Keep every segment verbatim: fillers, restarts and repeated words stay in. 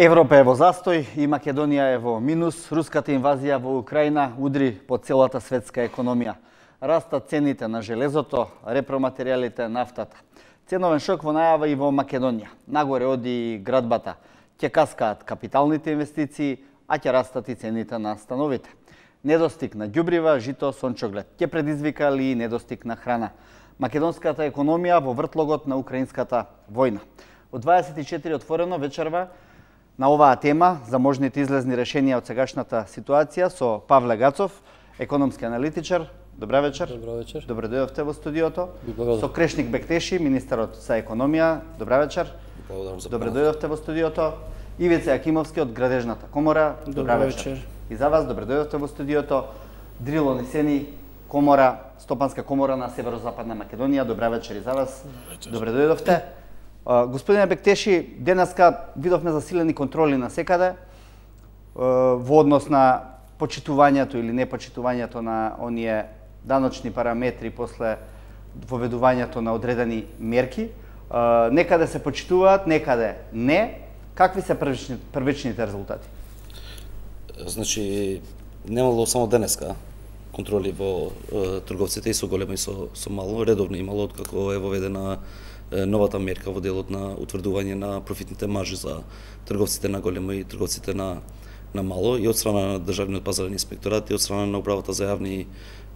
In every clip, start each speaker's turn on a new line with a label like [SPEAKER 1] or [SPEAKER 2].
[SPEAKER 1] Европа е во застој и Македонија е во минус. Руската инвазија во Украина удри по целата светска економија. Растат цените на железото, репроматеријалите, нафтата. Ценовен шок во најава и во Македонија. Нагоре оди и градбата. Ќе каскаат капиталните инвестиции, а ќе растат и цените на становите. Недостиг на ѓубрива, жито, сончоглед. Ќе предизвика ли и недостиг на храна. Македонската економија во вртлогот на украинската војна. Од дваесет и четири отворено вечерва на оваа тема за можните излезни решенија од сегашната ситуација со Павле Гацов, економски аналитичар. Добра вечер.
[SPEAKER 2] Добро вечер.
[SPEAKER 1] Добре дојдовте во студиото.
[SPEAKER 2] Благодарам.
[SPEAKER 1] Со Крешник Бектеши, министерот за економија. Добра вечер.
[SPEAKER 2] Благодарам за
[SPEAKER 1] Добре дојдовте во студиото. Ивица Јакимовски од Градежната комора. Добра
[SPEAKER 2] Добро
[SPEAKER 1] вечер.
[SPEAKER 2] вечер.
[SPEAKER 1] И за вас добре дојдовте во студиото. Дрило Нисени, комора, Стопанска комора на Северозападна Македонија. Добра вечер и за вас. Добре дојдовте. Господине Бектеши, денеска видовме засилени контроли на секаде во однос на почитувањето или непочитувањето на оние даночни параметри после воведувањето на одредени мерки. Некаде се почитуваат, некаде не. Какви се првични, првичните резултати?
[SPEAKER 2] Значи, немало само денеска контроли во е, трговците и со големо и со, со мало. Редовно имало откако е воведена е, новата мерка во делот на утврдување на профитните маржи за трговците на големо и трговците на, на мало и од страна на Државниот пазарен инспекторат и од страна на Управата за јавни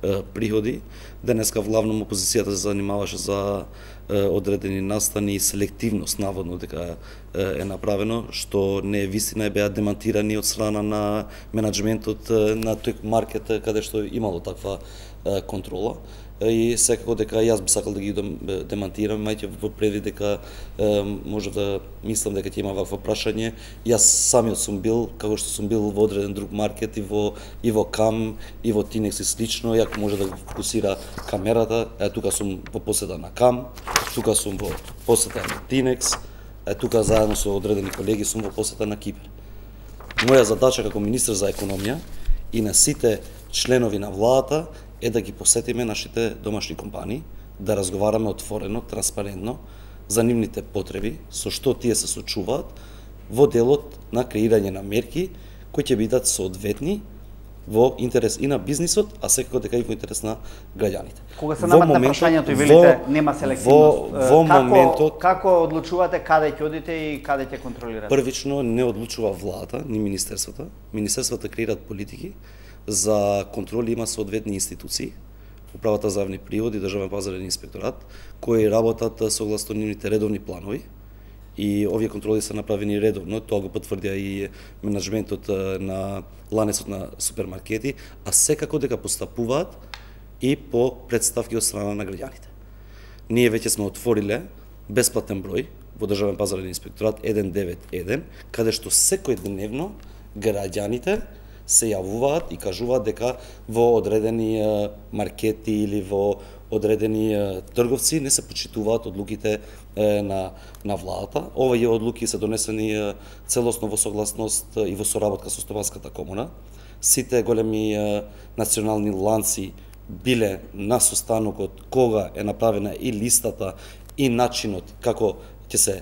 [SPEAKER 2] е, приходи. Денеска главно опозицијата се занимаваше за е, одредени настани и селективност, наводно дека е, е направено, што не е вистина, беа демантирани од страна на менаџментот на тој маркет каде што имало таква е, контрола. И секако дека јас би сакал да ги демантирам, мајте во предвид дека е, може да мислам дека ќе има вакво прашање. Јас самиот сум бил, како што сум бил во одреден друг маркет и во и во Кам, и во Тинекс и слично, јако може да го фокусира камерата. Е, тука сум во посета на Кам, тука сум во посета на Тинекс, е, тука заедно со одредени колеги сум во посета на Кипар. Моја задача како министер за економија и на сите членови на владата е да ги посетиме нашите домашни компании, да разговараме отворено, транспарентно за нивните потреби, со што тие се сочуваат во делот на креирање на мерки кои ќе бидат соодветни во интерес и на бизнисот, а секако дека и во интерес на граѓаните.
[SPEAKER 1] Кога се наметна прашањето и велите нема селективност,
[SPEAKER 2] во, во
[SPEAKER 1] како,
[SPEAKER 2] моментот
[SPEAKER 1] како одлучувате каде ќе одите и каде ќе контролирате?
[SPEAKER 2] Првично не одлучува владата, ни министерствата. Министерствата креираат политики, за контроли има соодветни институции, Управата за јавни приходи, Државен пазарен инспекторат, кои работат согласно нивните редовни планови. И овие контроли се направени редовно, тоа го потврдија и менаџментот на ланецот на супермаркети, а секако дека постапуваат и по претставки од страна на граѓаните. Ние веќе сме отвориле бесплатен број во Државен пазарен инспекторат еден девет еден, каде што секојдневно граѓаните се јавуваат и кажуваат дека во одредени маркети или во одредени трговци не се почитуваат одлуките на, на владата. Овие одлуки се донесени целосно во согласност и во соработка со Стопанската комора. Сите големи национални ланци биле на состанокот кога е направена и листата и начинот како ќе се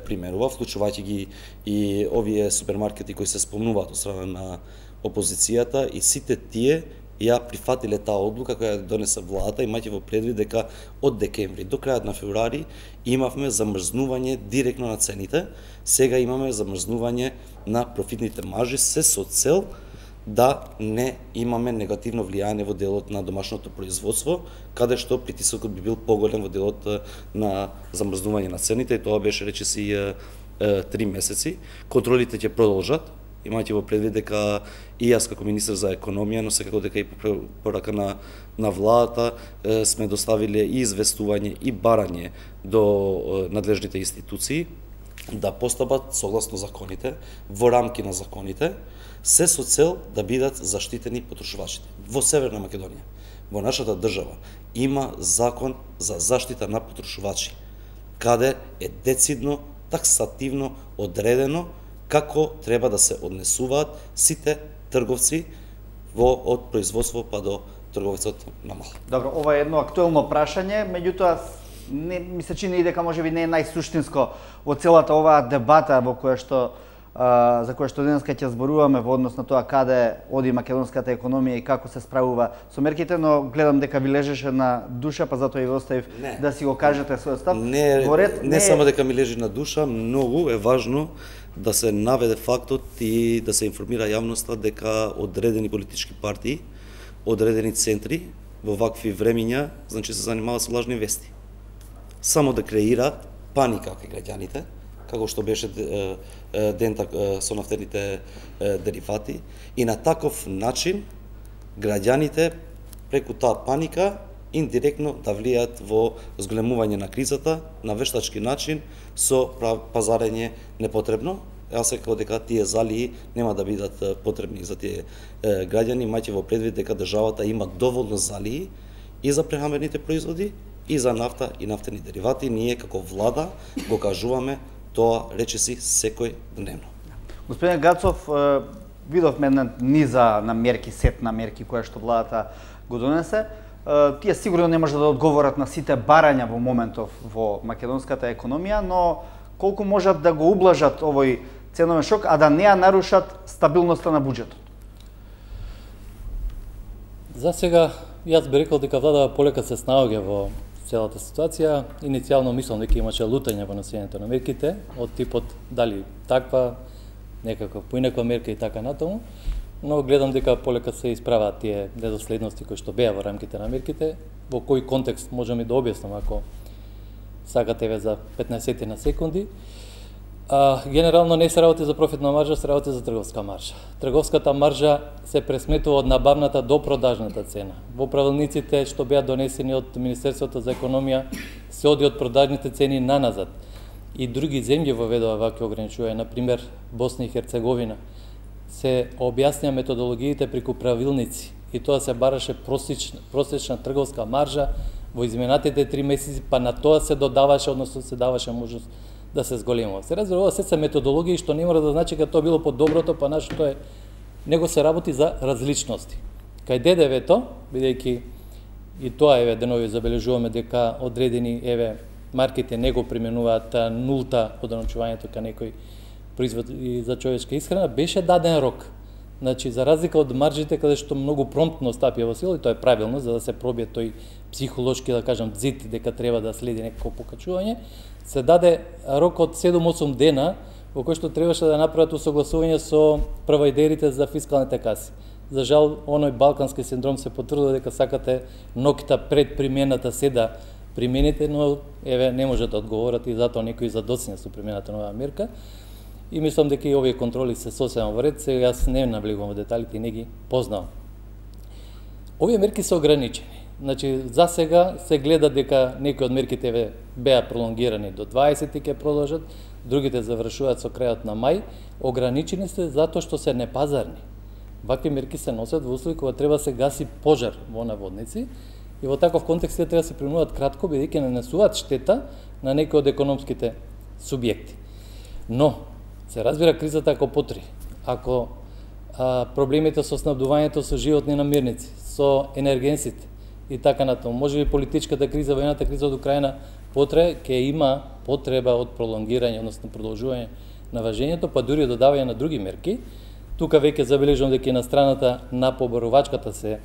[SPEAKER 2] примерува, вклучувајќи ги и овие супермаркети кои се спомнуваат од страна на опозицијата, и сите тие ја прифатиле таа одлука која ја донесе владата, имајќи во предвид дека од декември до крајот на февруари имавме замрзнување директно на цените, сега имаме замрзнување на профитните маржи, се со цел да не имаме негативно влијание во делот на домашното производство, каде што притисокот би бил поголем во делот на замрзнување на цените, и тоа беше речиси три месеци. Контролите ќе продолжат, имајќи во предвид дека и јас како министер за економија, но секако дека и по порака на, на владата сме доставиле и известување и барање до надлежните институции да постапат согласно законите, во рамки на законите, се со цел да бидат заштитени потрошувачите. Во Северна Македонија, во нашата држава, има закон за заштита на потрошувачи, каде е децидно, таксативно одредено како треба да се однесуваат сите трговци во од производство па до трговецот на мало.
[SPEAKER 1] Добро, ова е едно актуелно прашање, меѓутоа не ми се чини дека можеби не е најсуштинско во целата оваа дебата во која што за која што денеска ќе зборуваме во однос на тоа каде оди македонската економија и како се справува со мерките, но гледам дека ви лежеше на душа, па затоа и ви оставив не, да си го кажете својот став.
[SPEAKER 2] Не, ред, не, не само дека ми лежи на душа, многу е важно да се наведе фактот и да се информира јавноста дека одредени политички партии, одредени центри во вакви времиња, значи се занимаваат со лажни вести. Само да креираат паника кај граѓаните, како што беше дента со нафтените деривати, и на таков начин граѓаните преку таа паника индиректно да влијаат во зголемување на кризата на вештачки начин со пазарење непотребно. Јас секако дека тие залии нема да бидат потребни за тие граѓани, мајќи во предвид дека државата има доволно залии и за прехрамбените производи, и за нафта и нафтени деривати. Ние како влада го кажуваме тоа речиси секој дневно.
[SPEAKER 1] Господин Гацов, видовме една низа на мерки, сет на мерки која што владата го донесе. Тие сигурно не може да одговорат на сите барања во моментов во македонската економија, но колку можат да го ублажат овој ценовен шок, а да не ја нарушат стабилноста на буџетот?
[SPEAKER 3] За сега, јас би рекол дека влада полека се снаоѓа во целата ситуација. Иницијално мислам дека имаше лутање во носењето на мерките, од типот дали таква, некаква поинаква мерка и така натаму, но гледам дека полека се исправаат тие недоследности кои што беа во рамките на мерките. Во кој контекст можам и да објаснам ако сакате ве за петнаесет на секунди. А, генерално не се работи за профитна маржа, се работи за трговска маржа. Трговската маржа се пресметува од набавната до продажната цена. Во правилниците што беа донесени од Министерството за економија се оди од продажните цени наназад. И други земји воведува вакви ограничувања, на пример Босна и Херцеговина. Се објаснија методологиите преку правилници и тоа се бараше просечна, просечна трговска маржа во изминатите три месеци, па на тоа се додаваше, односно се даваше можност да се зголемува. Се разбира, ова се се методологии што не мора да значи дека тоа било по доброто, па нашето е, него се работи за различности. Кај ДДВ-то, бидејќи и тоа еве денови забележуваме дека одредени еве марките не го применуваат нулта одначувањето кај некој производ и за човечка исхрана, беше даден рок. Значи, за разлика од маржите каде што многу промптно стапија во сила, и тоа е правилно, за да се пробие тој психолошки, да кажам, дзид, дека треба да следи некако покачување, се даде рок од седум-осум дена, во кој што требаше да направат усогласување со провајдерите за фискалните каси. За жал, оној балкански синдром се потврдува дека сакате ноќта пред примената се да примените, но еве не може да одговорат и затоа некои задоцнија со примената на оваа мерка. И мислам дека и овие контроли се сосема во ред, сега јас не навлегувам во деталите и не ги познавам. Овие мерки се ограничени. Значи, за сега се гледа дека некои од мерките ве беа пролонгирани до дваесет и ќе продолжат, другите завршуваат со крајот на мај. Ограничени се затоа што се непазарни. Вакви мерки се носат во услови кога треба се гаси пожар во наводници и во таков контекст треба да се применуваат кратко, бидејќи нанесуваат штета на некои од економските субјекти. Но се разбира кризата ако потри, ако а, проблемите со снабдувањето со животни намирници, со енергенсите и така натаму, може би политичката криза, воената криза од Украина потрае, ќе има потреба од пролонгирање, односно продолжување на важењето, па дури додавање на други мерки. Тука веќе забележувам дека и на страната на поборувачката се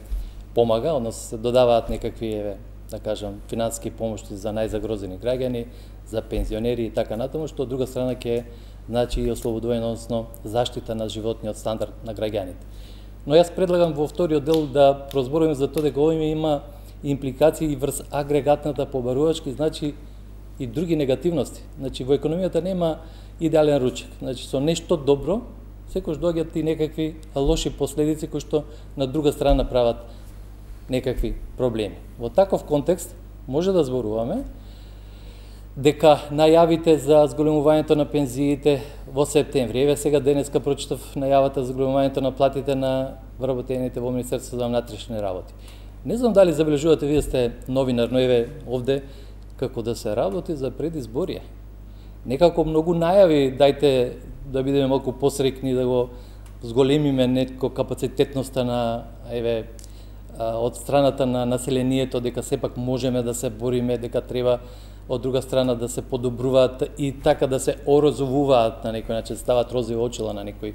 [SPEAKER 3] помага, односно се додаваат некакви, еве, да кажам, финансиски помошти за најзагрозени граѓани, за пензионери и така натаму, што од друга страна ќе значи и ослободување, односно заштита на животниот стандард на граѓаните. Но јас предлагам во вториот дел да прозборуваме за тоа дека овој има импликации и врз агрегатната побарувачка, значи и други негативности. Значи во економијата нема идеален ручек. Значи со нешто добро секојаш доаѓаат и некакви лоши последици кои што на друга страна прават некакви проблеми. Во таков контекст може да зборуваме дека најавите за зголемувањето на пензиите во септември, еве сега денеска прочитав најавата за зголемувањето на платите на вработените во Министерството за внатрешни работи. Не знам дали забележувате, вие сте новинар, но еве овде како да се работи за предизборие. Некако многу најави, дајте да бидеме малку посрекни, да го зголемиме некако капацитетноста на еве од страната на населението, дека сепак можеме да се бориме, дека треба од друга страна да се подобруваат и така да се орозовуваат на некој начин, стават розови очила на некои,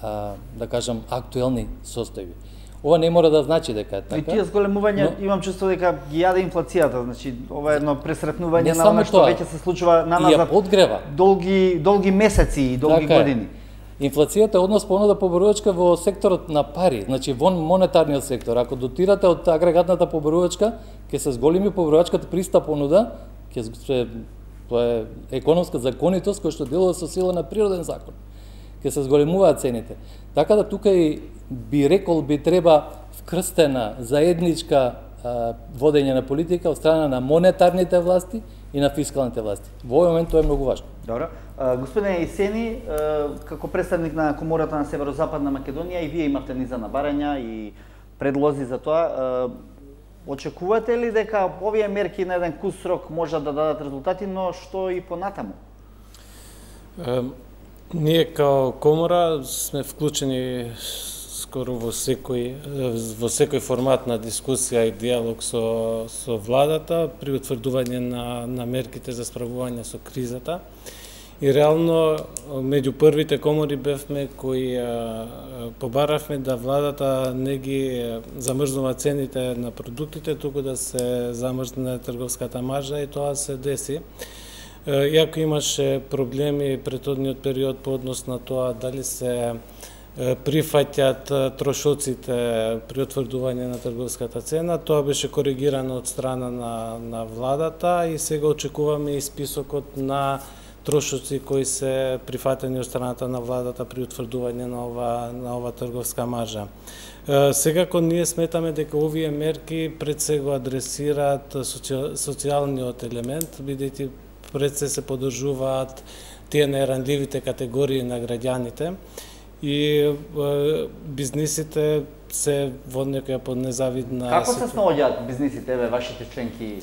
[SPEAKER 3] а, да кажам, актуелни состојби. Ова не мора да значи дека е така.
[SPEAKER 1] И тие зголемувања, но имам чувство дека ги јаде инфлацијата, значи ова е едно пресретнување на она што веќе се случува на назад.
[SPEAKER 3] И ја подгрева.
[SPEAKER 1] Долги долги месеци и долги така години.
[SPEAKER 3] Е. Инфлацијата е однос понуда поборувачка во секторот на пари, значи во монетарниот сектор. Ако дотирате од агрегатната поборувачка, ќе се зголеми поборувачката приста понуда, ќе се тоа е економска законитост која што делува со сила на природен закон. Ќе се зголемуваат цените. Така да тука и би рекол би треба вкрстена заедничка а, водење на политика од страна на монетарните власти и на фискалните власти. Во овој момент тоа е многу важно.
[SPEAKER 1] Добро. Господине Исени, како представник на Комората на Северозападна Македонија, и вие имавте низа на барања и предлози за тоа. Очекувате ли дека овие мерки на еден кус срок можат да дадат резултати, но што и понатаму?
[SPEAKER 4] Ние као Комора сме вклучени скоро во секој во секој формат на дискусија и диалог со со владата при утврдување на на мерките за справување со кризата. И реално меѓу првите комори бевме кои а, побаравме да владата не ги замрзнува цените на продуктите, туку да се замрзне трговската маржа, и тоа се деси. Иако имаше проблеми претhodниот период по однос на тоа дали се прифаќаат трошоците при утврдување на трговската цена, тоа беше коригирано од страна на на владата и сега очекуваме и списокот на трошоци кои се прифатени од страната на владата при утврдување на ова на ова трговска маржа. Секако ние сметаме дека овие мерки пред се го адресираат социјалниот елемент, бидејќи пред се се поддржуваат тие најранливите категории на граѓаните и бизнисите се во некоја под незавидна.
[SPEAKER 1] Како се снаоѓаат бизнисите, еве вашите членки?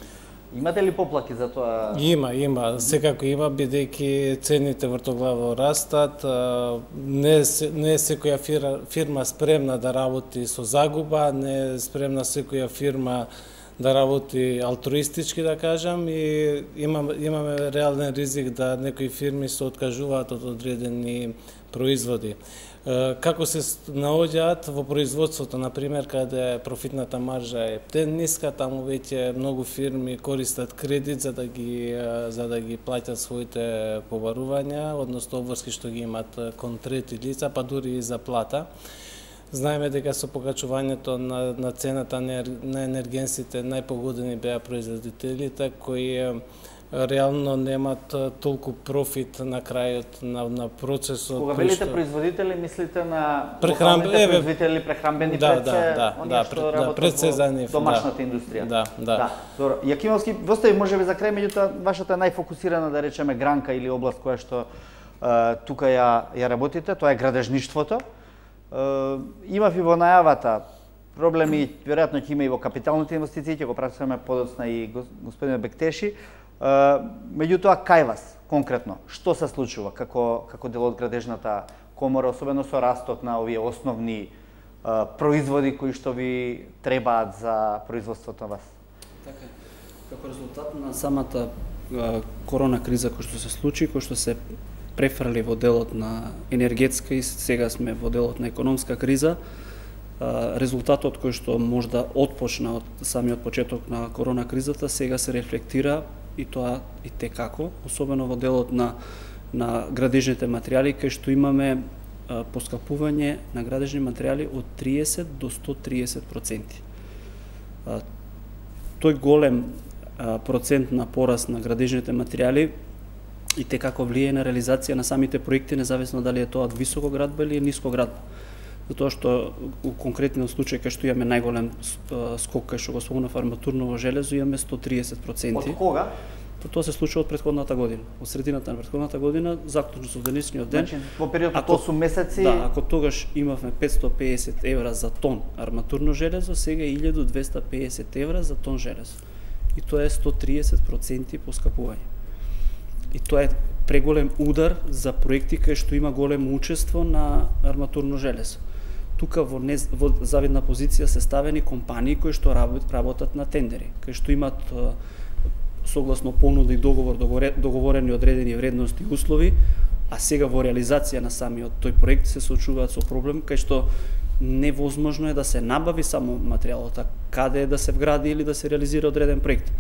[SPEAKER 1] Имате ли поплаки за тоа?
[SPEAKER 4] Има, има, секако има, бидејќи цените вртоглаво растат, не не е секоја фирма, фирма спремна да работи со загуба, не е спремна секоја фирма да работи алтруистички, да кажам, и имаме, имаме реален ризик да некои фирми се откажуваат од одредени производи. Како се наоѓаат во производството, например, каде профитната маржа е ниска, таму веќе многу фирми користат кредит за да ги за да ги плаќат своите побарувања, односно обврски што ги имат кон трети лица, па дури и за плата. Знаеме дека со покачувањето на, на цената на енергенсите најпогодени беа производителите кои реално немат толку профит на крајот на, на процесот.
[SPEAKER 1] Кога велите што... производители, мислите на
[SPEAKER 4] локалните
[SPEAKER 1] еве... производители прехранбени
[SPEAKER 4] да,
[SPEAKER 1] предсе,
[SPEAKER 4] да, да,
[SPEAKER 1] оние
[SPEAKER 4] да,
[SPEAKER 1] што
[SPEAKER 4] да,
[SPEAKER 1] работат
[SPEAKER 4] предсе за нив,
[SPEAKER 1] домашната
[SPEAKER 4] да,
[SPEAKER 1] индустрија.
[SPEAKER 4] Да, да.
[SPEAKER 1] да. Добро. Јакимовски, востави можеби за крај, меѓутоа вашата најфокусирана, да речеме, гранка или област која што е, тука ја, ја работите, тоа е градежништвото. Uh, имав и во најавата проблеми, веројатно ќе има и во капиталните инвестиции, ќе го прашуваме подоцна и господинот Бектеши. Uh, меѓутоа, кај вас, конкретно, што се случува како, како дел од градежната комора, особено со растот на овие основни uh, производи кои што ви требаат за производството на вас?
[SPEAKER 5] Така, како резултат на самата uh, корона криза која што се случи, која што се префрли во делот на енергетска и сега сме во делот на економска криза, резултатот кој што можда отпочна од самиот почеток на корона кризата сега се рефлектира и тоа и текако, особено во делот на на градежните материјали, кај што имаме поскапување на градежни материјали од триесет до сто триесет проценти. Тој голем процент на пораст на градежните материјали и те како влие на реализација на самите проекти, независно дали е тоа од високо градба или ниско градба. Затоа што у конкретниот случај кај што имаме најголем скок кај што го спомнав арматурново железо, имаме сто триесет проценти.
[SPEAKER 1] Од кога?
[SPEAKER 5] Тоа се случува од претходната година. Од средината на претходната година, заклучно со денешниот ден.
[SPEAKER 1] Значи, во период од осум месеци.
[SPEAKER 5] Да, ако тогаш имавме петстотини и педесет евра за тон арматурно железо, сега е илјаду двесте и педесет евра за тон железо. И тоа е сто триесет проценти поскапување. И тоа е преголем удар за проекти кај што има големо учество на арматурно железо. Тука во, не, во завидна позиција се ставени компании кои што работат на тендери, кај што имат согласно понуда и договор договорени одредени вредности и услови, а сега во реализација на самиот тој проект се соочуваат со проблем кај што невозможно е да се набави само материјалот, а каде е да се вгради или да се реализира одреден проект.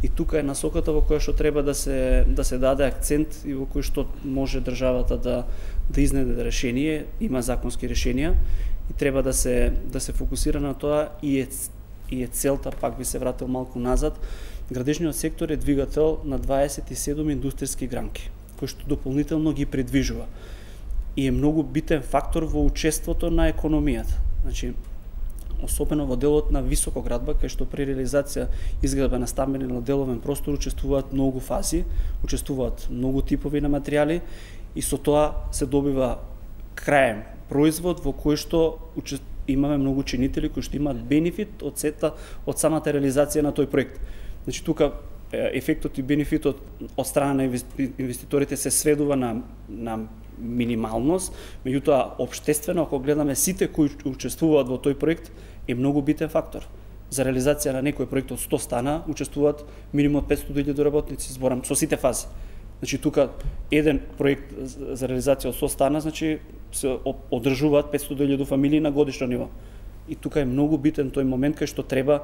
[SPEAKER 5] И тука е насоката во која што треба да се да се даде акцент и во кој што може државата да да изнеде решение, има законски решенија и треба да се да се фокусира на тоа и е и е целта, пак би се вратил малку назад. Градежниот сектор е двигател на дваесет и седум индустријски гранки, кој што дополнително ги предвижува и е многу битен фактор во учеството на економијата. Значи, особено во делот на високоградба, кај што при реализација изградба на стамбени на деловен простор учествуваат многу фази, учествуваат многу типови на материјали и со тоа се добива краен производ во кој што имаме многу чинители кои што имаат бенефит од сета од самата реализација на тој проект. Значи тука ефектот и бенефитот од страна на инвеститорите се сведува на на минималност, меѓутоа општествено ако гледаме сите кои учествуваат во тој проект е многу битен фактор. За реализација на некој проект од сто стана учествуваат минимум петстотини илјади работници, зборам со сите фази. Значи тука еден проект за реализација од сто стана, значи се одржуваат петстотини илјади фамилии на годишно ниво. И тука е многу битен тој момент кај што треба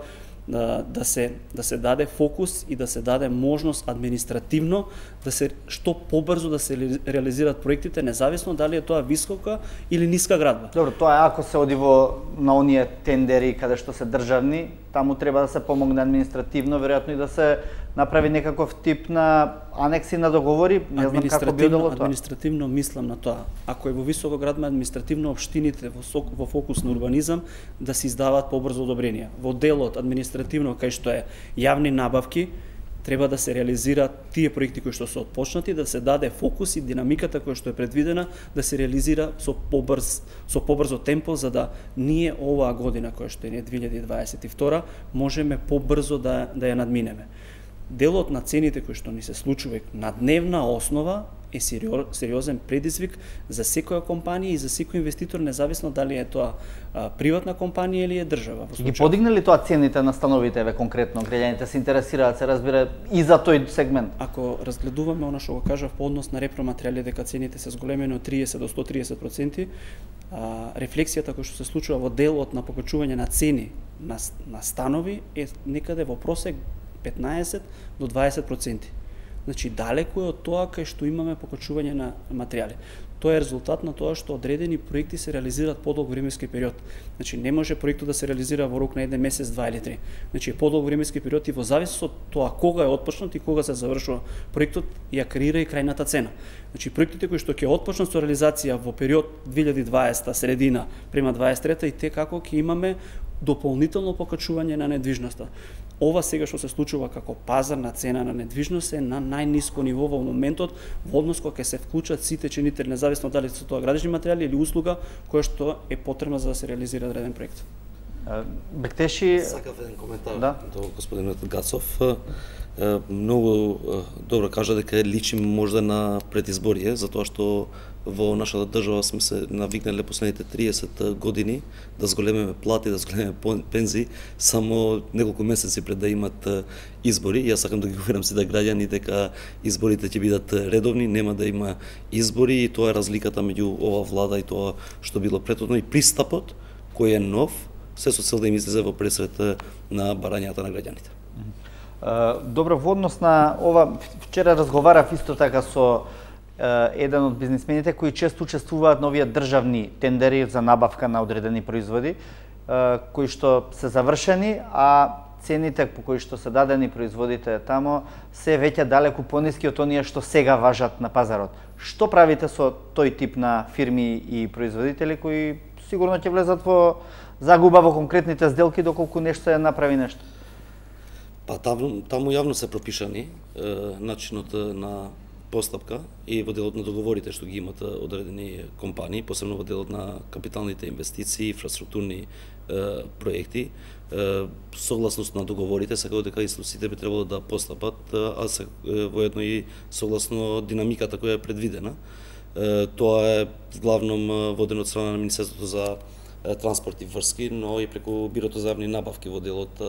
[SPEAKER 5] да, да се да се даде фокус и да се даде можност административно да се што побрзо да се реализираат проектите, независно дали е тоа висока или ниска градба.
[SPEAKER 1] Добро, тоа е ако се оди во на оние тендери каде што се државни, таму треба да се помогне административно, веројатно и да се направи некаков тип на анекси на договори, не знам како би било тоа.
[SPEAKER 5] Административно мислам на тоа. Ако е во високо градба, административно општините во, во фокус на урбанизам да се издаваат побрзо одобренија. Во делот административно кај што е јавни набавки, треба да се реализираат тие проекти кои што се отпочнати, да се даде фокус и динамиката која што е предвидена да се реализира со побрз со побрзо темпо, за да ние оваа година која што е две илјади дваесет и втора можеме побрзо да да ја надминеме. Делот на цените кои што ни се случува на дневна основа е сериозен предизвик за секоја компанија и за секој инвеститор, независно дали е тоа а, приватна компанија или е држава.
[SPEAKER 1] Ги подигна ли тоа цените на становите, еве конкретно граѓаните се интересираат, се разбира и за тој сегмент?
[SPEAKER 5] Ако разгледуваме она што го кажав по однос на репроматеријали дека цените се зголемени од триесет до сто и триесет проценти, а, рефлексијата која што се случува во делот на покачување на цени на, на станови е некаде во просек петнаесет до дваесет проценти. Значи, далеку е од тоа кај што имаме покачување на материјали. Тоа е резултат на тоа што одредени проекти се реализираат подолг временски период. Значи, не може проектот да се реализира во рок на еден месец, два или три. Значи, подолг временски период и во зависност од тоа кога е отпочнат и кога се завршува проектот, ја креира и крајната цена. Значи, проектите кои што ќе отпочнат со реализација во период две илјади и дваесета средина према дваесет и трета и те како ќе имаме дополнително покачување на недвижноста. Ова сега што се случува како пазарна цена на недвижност е на најниско ниво во моментот во однос кога ќе се вклучат сите чинители, независно дали се тоа градежни материјали или услуга која што е потребна за да се реализира одреден проект.
[SPEAKER 1] Бектеши,
[SPEAKER 2] сакав еден коментар
[SPEAKER 1] да?
[SPEAKER 2] до господинот Гацов. Многу добро кажа дека личи можда на предизборие, затоа што во нашата држава сме се навикнале последните триесет години да зголемиме плати, да зголемиме пензии само неколку месеци пред да имат избори. Јас сакам да ги уверам сите граѓани дека изборите ќе бидат редовни, нема да има избори и тоа е разликата меѓу ова влада и тоа што било претходно и пристапот кој е нов, се со цел да им излезе во пресрет на барањата на граѓаните.
[SPEAKER 1] Добро, во однос на ова, вчера разговарав исто така со еден од бизнисмените кои често учествуваат на овие државни тендери за набавка на одредени производи, кои што се завршени, а цените по кои што се дадени производите тамо се веќе далеку пониски од оние што сега важат на пазарот. Што правите со тој тип на фирми и производители кои сигурно ќе влезат во загуба во конкретните сделки доколку нешто ја направи нешто?
[SPEAKER 2] Па таму, таму јавно се пропишани е, начинот на постапка и во делот на договорите што ги имат одредени компании, посебно во делот на капиталните инвестиции, инфраструктурни е, проекти. Е, согласност на договорите, секако дека институциите би требало да постапат, а се е, воедно и согласно динамиката која е предвидена. Е, тоа е главном водено од страна на Министерството за транспорт и врски, но и преку Бирото за јавни набавки во делот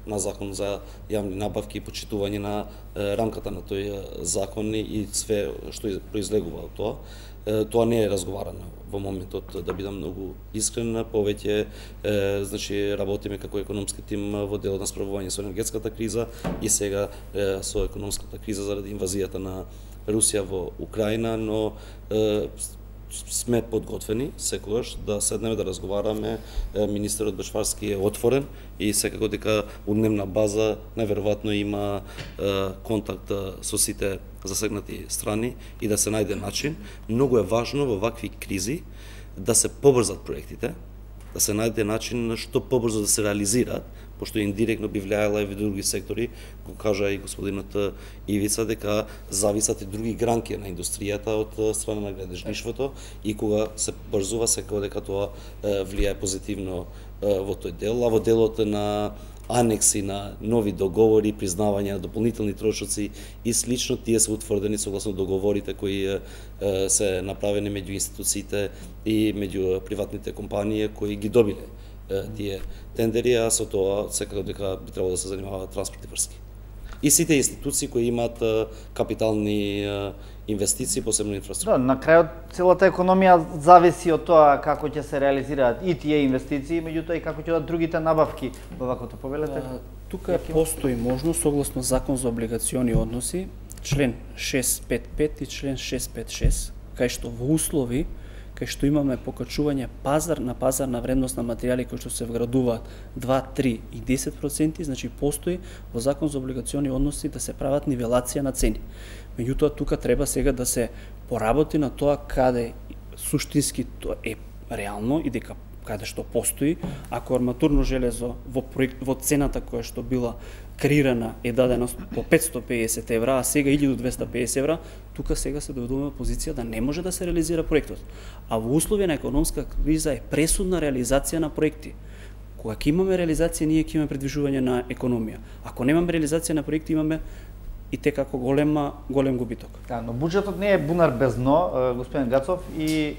[SPEAKER 2] на закон за јавни набавки и почитување на рамката на тој закон и све што произлегува од тоа. Тоа не е разговарано во моментот, да бидам многу искрен, повеќе е, значи работиме како економски тим во делот на справување со енергетската криза и сега е, со економската криза заради инвазијата на Русија во Украина, но е, сме подготвени секогаш да седнеме да разговараме. Министерот Бешварски е отворен и секако дека у дневна база најверојатно има е, контакт со сите засегнати страни и да се најде начин. Многу е важно во вакви кризи да се побрзат проектите, да се најде начин што побрзо да се реализираат, пошто индиректно би влијаела и во други сектори, го кажа и господинот Ивица, дека зависат и други гранки на индустријата од страна на градежништвото и кога се брзува секако дека тоа влијае позитивно во тој дел, а во делот на анекси на нови договори, признавање на дополнителни трошоци и слично, тие се утврдени согласно договорите кои се направени меѓу институциите и меѓу приватните компании кои ги добиле тие тендери, а со тоа секако дека би требало да се занимава транспорт и врски. И сите институции кои имаат капитални инвестиции, посебно инфраструктура.
[SPEAKER 1] Да, на крајот целата економија зависи од тоа како ќе се реализираат и тие инвестиции, меѓутоа и како ќе одат другите набавки во ваквото повелете.
[SPEAKER 5] Тука постои можност согласно Закон за облигациони односи, член шест пет пет и член шест пет шест, кај што во услови кај што имаме покачување пазар на пазарна вредност на материјали кои што се вградуваат два, три и десет проценти, значи постои во Закон за облигациони односи да се прават нивелација на цени. Меѓутоа тука треба сега да се поработи на тоа каде суштински тоа е реално и дека каде што постои, ако арматурно железо во проект во цената која што била креирана е дадена по петстотини и педесет евра, а сега илјаду двесте и педесет евра, тука сега се доведуваме во позиција да не може да се реализира проектот. А во услови на економска криза е пресудна реализација на проекти. Кога ќе имаме реализација, ние ќе имаме предвижување на економија. Ако немаме реализација на проекти, имаме и те како голема голем губиток.
[SPEAKER 1] Да, но буџетот не е бунар без дно, господин Гацов, и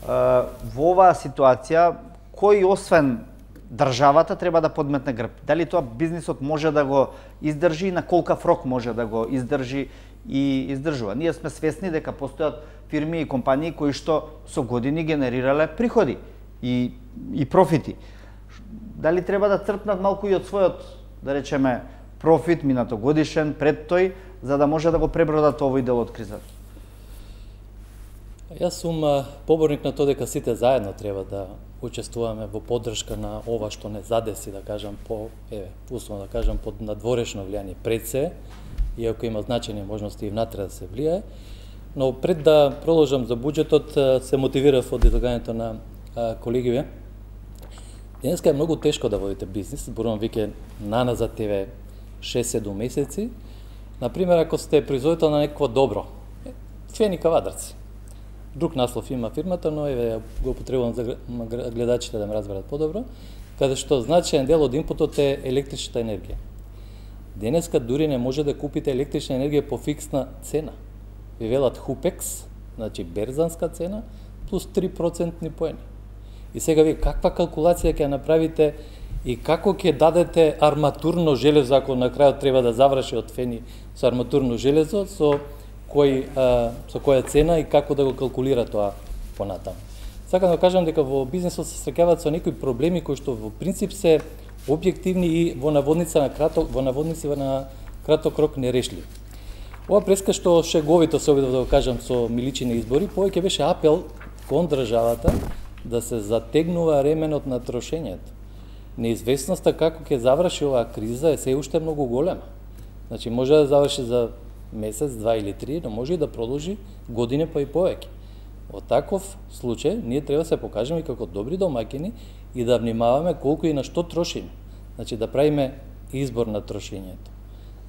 [SPEAKER 1] во оваа ситуација кој освен државата треба да подметне грб? Дали тоа бизнисот може да го издржи и на колкав рок може да го издржи и издржува? Ние сме свесни дека постојат фирми и компании кои што со години генерирале приходи и и профити. Дали треба да црпнат малку и од својот, да речеме, профит минатогодишен пред тој, за да може да го пребродат овој дел од кризата?
[SPEAKER 3] Јас сум поборник на тоа дека сите заедно треба да учествуваме во поддршка на ова што не задеси, да кажам, по, еве, условно да кажам, под надворешно влијание пред се, иако има значајни можности и внатре да се влијае. Но пред да продолжам за буџетот, се мотивирав од излагањето на колегиве. Денеска е многу тешко да водите бизнис, зборувам веќе наназад еве шест-седум месеци. Например, ако сте производител на некакво добро, фени кавадарци. Друг наслов има фирмата, но еве го употребувам за гледачите да ме разберат подобро, каде што значаен дел од инпутот е електричната енергија. Денеска дури не може да купите електрична енергија по фиксна цена. Ви велат Хупекс, значи берзанска цена, плюс три процентни поени. И сега вие каква калкулација ќе направите и како ќе дадете арматурно железо, ако на крајот треба да заврши од фени со арматурно железо, со кој а, со која цена и како да го калкулира тоа понатаму. Сакам да кажам дека во бизнисот се среќаваат со некои проблеми кои што во принцип се објективни и во наводница на краток во наводници на краток рок нерешливи. Ова преска што шеговито се обидов да го кажам со миличини избори, повеќе беше апел кон државата да се затегнува ременот на трошењето. Неизвестноста како ќе заврши оваа криза е се уште многу голема. Значи може да заврши за месец, два или три, но може и да продолжи години па и повеќе. Во таков случај ние треба да се покажеме како добри домаќини и да внимаваме колку и на што трошиме. Значи да правиме избор на трошењето.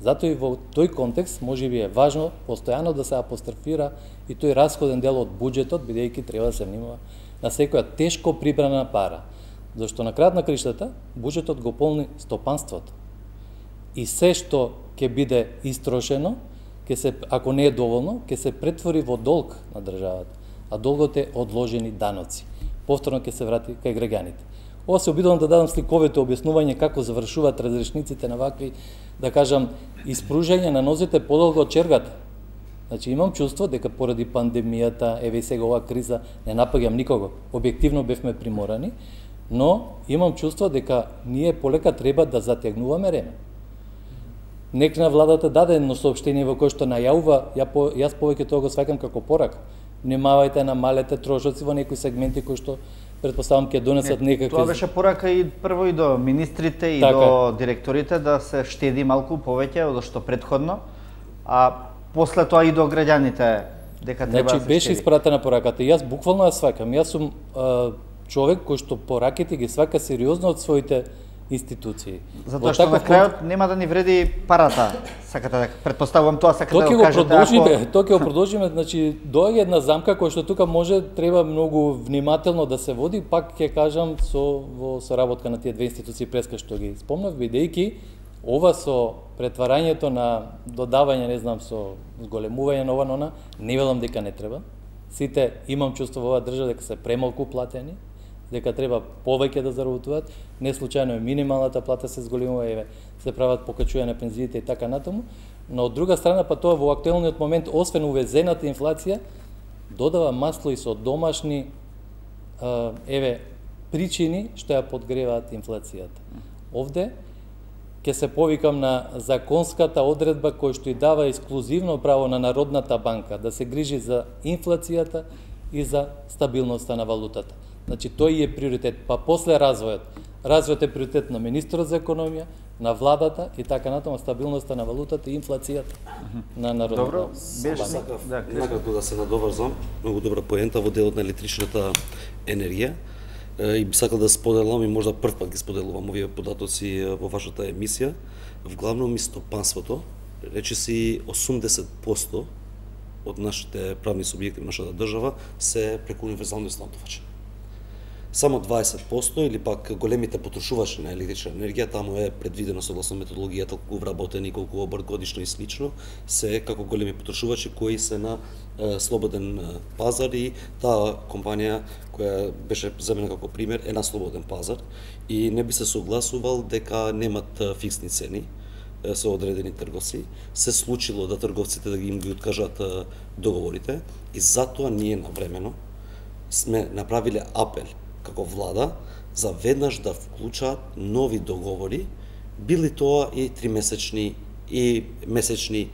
[SPEAKER 3] Затоа и во тој контекст можеби е важно постојано да се апострофира и тој расходен дел од буџетот, бидејќи треба да се внимава на секоја тешко прибрана пара. Зашто на крајот на криштата буџетот го полни стопанството. И се што ќе биде истрошено, ќе се, ако не е доволно, ќе се претвори во долг на државата, а долгот е одложени даноци. повторно ќе се врати кај граѓаните. Ова се обидувам да дадам сликовито објаснување како завршуваат разрешниците на вакви, да кажам, испружање на нозите подолго од чергата. Значи имам чувство дека поради пандемијата, еве и сега оваа криза, не напаѓам никого, објективно бевме приморани, но имам чувство дека ние полека треба да затегнуваме реме. Некна владата даде едно соопштение во кое што најавува, ја по, јас повеќе тоа го сваќам како порака. Внимавајте, намалете трошоци во некои сегменти кои што претпоставам ќе донесат
[SPEAKER 1] Не,
[SPEAKER 3] некакви.
[SPEAKER 1] Тоа беше порака и прво и до министрите и
[SPEAKER 3] Така.
[SPEAKER 1] до директорите да се штеди малку повеќе од што претходно, а после тоа и до граѓаните дека треба
[SPEAKER 3] Значи
[SPEAKER 1] да се
[SPEAKER 3] беше
[SPEAKER 1] штеди.
[SPEAKER 3] испратена пораката. Јас буквално ја сваќам. Јас сум а, човек кој што пораките ги сваќа сериозно од своите институции.
[SPEAKER 1] Затоа
[SPEAKER 3] Во
[SPEAKER 1] што на
[SPEAKER 3] таков
[SPEAKER 1] крајот нема да ни вреди парата. Сакате да предпоставувам тоа сакате
[SPEAKER 3] Тоа
[SPEAKER 1] да
[SPEAKER 3] ќе
[SPEAKER 1] го
[SPEAKER 3] го
[SPEAKER 1] кажете.
[SPEAKER 3] продолжиме,
[SPEAKER 1] ако-
[SPEAKER 3] тоа ќе го продолжиме, значи доаѓа една замка која што тука може треба многу внимателно да се води, пак ќе кажам со во соработка на тие две институции преска што ги спомнав, бидејќи ова со претварањето на додавање, не знам, со зголемување на ова на она, не велам дека не треба. Сите имам чувство во оваа држава дека се премалку платени, дека треба повеќе да заработуваат. Не случајно е минималната плата се зголемува, еве, се прават покачување на пензиите и така натаму, но од друга страна па тоа во актуелниот момент, освен увезената инфлација, додава масло и со домашни а, еве причини што ја подгреваат инфлацијата. Овде ќе се повикам на законската одредба која што и дава ексклузивно право на Народната банка да се грижи за инфлацијата и за стабилноста на валутата. Значи тој е приоритет, па после развојот. Развојот е приоритет на министерот за економија, на владата и така натаму, стабилноста на валутата и инфлацијата на Народната
[SPEAKER 1] Добро,
[SPEAKER 3] банка.
[SPEAKER 1] беше
[SPEAKER 2] Сакав
[SPEAKER 1] да, Кришна.
[SPEAKER 2] накратко да се надоврзам, многу добра поента во делот на електричната енергија. Е, И би сакал да споделам и можда прв пат ги споделувам овие податоци е, во вашата емисија. Вглавном и стопанството, речиси осумдесет проценти од нашите правни субјекти во нашата држава се преку универзални снабдувачи. Само дваесет проценти или пак големите потрошувачи на електрична енергија, таму е предвидено согласно методологијата колку вработени, колку обрт годишно и слично, се како големи потрошувачи кои се на е, слободен е, пазар и таа компанија која беше земена како пример е на слободен пазар и не би се согласувал дека немат е, фиксни цени е, со одредени трговци. Се случило да трговците да ги им ги откажат е, договорите и затоа ние навремено сме направиле апел како влада за веднаш да вклучаат нови договори, били тоа и тримесечни и месечни,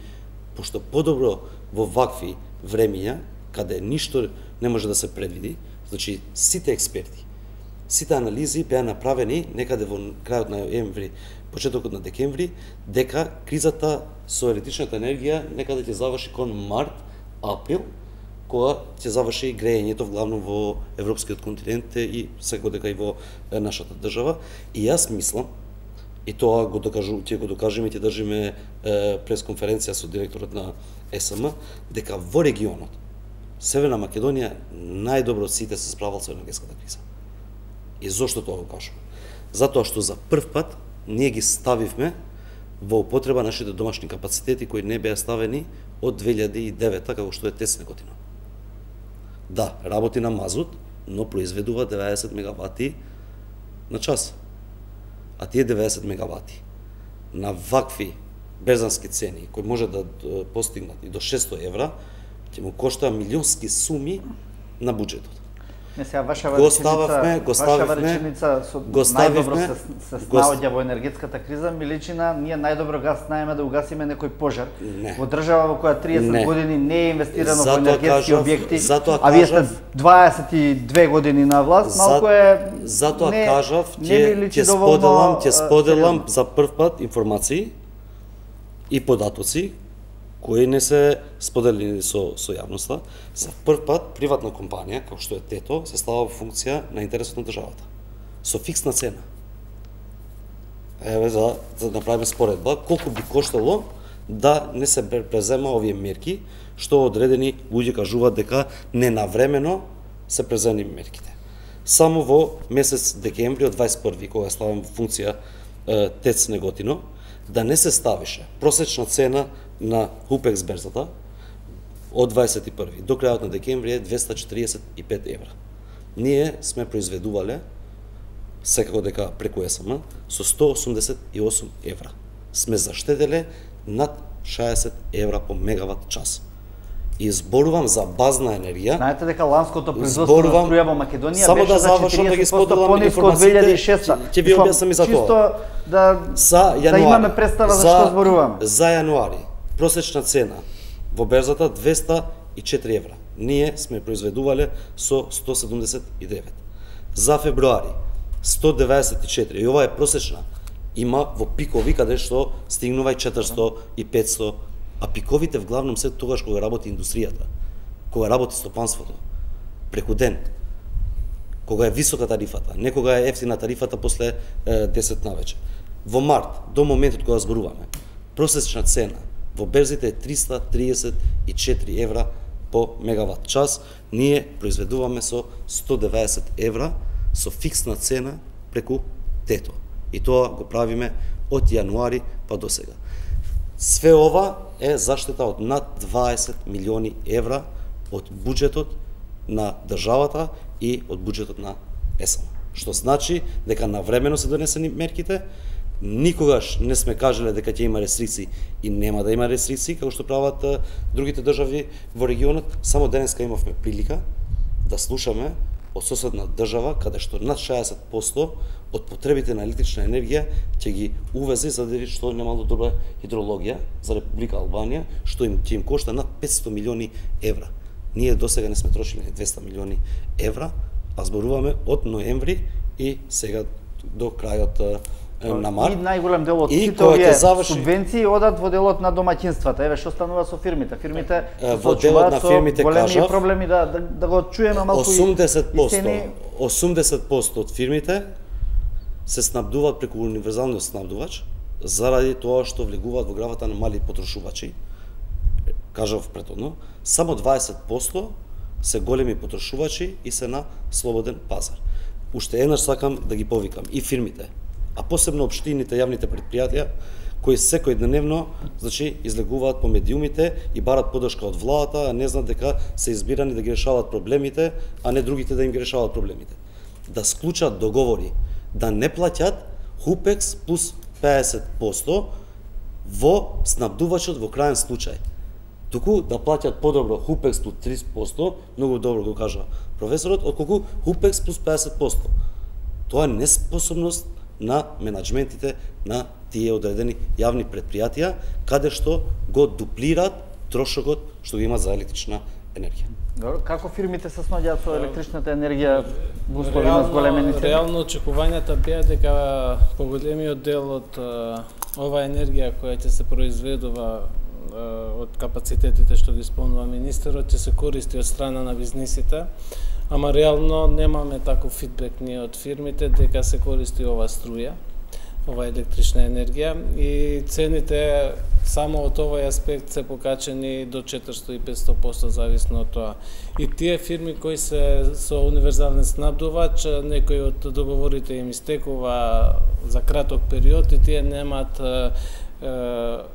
[SPEAKER 2] пошто подобро во вакви времиња, каде ништо не може да се предвиди, значи сите експерти, сите анализи беа направени некаде во крајот на ноември, почетокот на декември, дека кризата со електричната енергија некаде ќе заврши кон март, април, кога ќе заврши и грејењето вглавно во европскиот континент и секако дека и во нашата држава. И јас мислам, и тоа го докажу, ќе го докажеме и ќе држиме е, пресконференција со директорот на Ес Ем, дека во регионот Северна Македонија најдобро од сите се справил со енергетската криза. И зошто тоа го кажувам? Затоа што за прв пат ние ги ставивме во употреба нашите домашни капацитети кои не беа ставени од две илјади и девета како што е ТЕЦ Неготино. Да, работи на мазут, но произведува деветдесет мегавати на час. А тие деветдесет мегавати на вакви безански цени кои може да постигнат и до шестстотини евра, ќе му коштаа милионски суми на буџетот.
[SPEAKER 1] Не сега ваша
[SPEAKER 2] Го
[SPEAKER 1] реченица,
[SPEAKER 2] стававме, го
[SPEAKER 1] ваша
[SPEAKER 2] ставивме,
[SPEAKER 1] реченица со
[SPEAKER 2] го
[SPEAKER 1] најдобро
[SPEAKER 2] ставивме,
[SPEAKER 1] се, се
[SPEAKER 2] го ст-
[SPEAKER 1] снаоѓа во енергетската криза, ми личи на ние најдобро гас знаеме да угасиме некој пожар.
[SPEAKER 2] Не.
[SPEAKER 1] Во држава во која триесет
[SPEAKER 2] Не.
[SPEAKER 1] години не е инвестирано во
[SPEAKER 2] Затоа
[SPEAKER 1] енергетски
[SPEAKER 2] кажав-
[SPEAKER 1] објекти,
[SPEAKER 2] затоа
[SPEAKER 1] а вие сте
[SPEAKER 2] кажав-
[SPEAKER 1] дваесет и две години на власт, малку е
[SPEAKER 2] Затоа
[SPEAKER 1] не,
[SPEAKER 2] кажав,
[SPEAKER 1] не
[SPEAKER 2] ќе
[SPEAKER 1] ми личи
[SPEAKER 2] ќе
[SPEAKER 1] доволно,
[SPEAKER 2] споделам, ќе
[SPEAKER 1] а,
[SPEAKER 2] споделам
[SPEAKER 1] сериозно.
[SPEAKER 2] за прв пат информации и податоци кои не се споделени со со јавноста. За прв пат приватна компанија како што е ТЕТО се става во функција на интересот на државата со фиксна цена. Еве за за да направиме споредба колку би коштало да не се презема овие мерки што одредени луѓе кажуваат дека ненавремено се презени мерките. Само во месец декември од дваесет и први кога ставам во функција е, ТЕЦ Неготино, да не се ставише просечна цена на Хупекс берзата од дваесет и први до крајот на декември е двесте четиридесет и пет евра. ние сме произведувале секако дека преку ЕСМ со сто осумдесет и осум евра. Сме заштеделе над шаесет евра по мегават час. И зборувам за базна енергија.
[SPEAKER 1] Знаете дека ланското производство на струја во Македонија
[SPEAKER 2] само
[SPEAKER 1] беше
[SPEAKER 2] да
[SPEAKER 1] за
[SPEAKER 2] завршам да ги споделам
[SPEAKER 1] пониско од две илјади и шеста.
[SPEAKER 2] Ќе ви објаснам и за тоа.
[SPEAKER 1] Чисто да
[SPEAKER 2] за јануари,
[SPEAKER 1] да имаме представа за, за што зборуваме.
[SPEAKER 2] За јануари просечна цена во берзата двеста и четири евра. Ние сме произведувале со сто седумдесет и девет. За февруари сто деветдесет и четири. И ова е просечна. Има во пикови каде што стигнува и четиристо и петсто, а пиковите вглавном се тогаш кога работи индустријата, кога работи стопанството, преку ден, кога е висока тарифата, не кога е ефтина тарифата после е, десет навече. Во март, до моментот кога зборуваме, просечна цена во берзите е триста триесет и четири евра по мегават час, ние произведуваме со сто деветдесет евра со фиксна цена преку тето. И тоа го правиме од јануари па до сега. Све ова е заштета од над дваесет милиони евра од буџетот на државата и од буџетот на ЕСМ. Што значи дека навремено се донесени мерките, никогаш не сме кажале дека ќе има рестрикции и нема да има рестрикции, како што прават другите држави во регионот. Само денеска имавме прилика да слушаме од соседна држава, каде што над шаесет проценти од потребите на електрична енергија ќе ги увезе заради што немало добра хидрологија за Република Албанија, што им ќе им кошта над петсто милиони евра. Ние досега не сме трошили двеста милиони евра, а зборуваме од ноември и сега до крајот на март.
[SPEAKER 1] И најголем дел од
[SPEAKER 2] и
[SPEAKER 1] сите овие
[SPEAKER 2] заврши...
[SPEAKER 1] субвенции одат во делот на домаќинствата. Еве што станува со фирмите. Фирмите
[SPEAKER 2] во делот на фирмите
[SPEAKER 1] големи
[SPEAKER 2] кажав,
[SPEAKER 1] проблеми да, да да го чуеме малку
[SPEAKER 2] осумдесет проценти,
[SPEAKER 1] и цени...
[SPEAKER 2] осумдесет проценти од фирмите се снабдуваат преку универзалниот снабдувач заради тоа што влегуваат во гравата на мали потрошувачи. Кажав претhodно, само дваесет проценти се големи потрошувачи и се на слободен пазар. Уште еднаш сакам да ги повикам и фирмите, а посебно општините, јавните предпријатија, кои секојдневно, значи, излегуваат по медиумите и барат подршка од владата, а не знаат дека се избирани да ги решаваат проблемите, а не другите да им ги решаваат проблемите. Да склучат договори, да не плаќат Хупекс плюс педесет проценти во снабдувачот во крајен случај. Туку да плаќат подобро Хупекс плюс тридесет проценти, многу добро го кажа професорот, отколку Хупекс плюс педесет проценти. Тоа е неспособност на менаџментите на тие одредени јавни предпријатија, каде што го дуплираат трошокот што го има за електрична енергија.
[SPEAKER 1] Добро, како фирмите се снаоѓаат со електричната енергија во услови на зголемени цени?
[SPEAKER 4] Реално очекувањата беа дека поголемиот дел од ова енергија која ќе се произведува од капацитетите што ги спомнува министерот ќе се користи од страна на бизнисите, ама реално немаме таков фидбек ние од фирмите дека се користи ова струја, ова електрична енергија и цените само од овој аспект се покачени до четиристо и петсто проценти зависно од тоа. И тие фирми кои се со универзален снабдувач, некои од договорите им истекува за краток период и тие немаат е,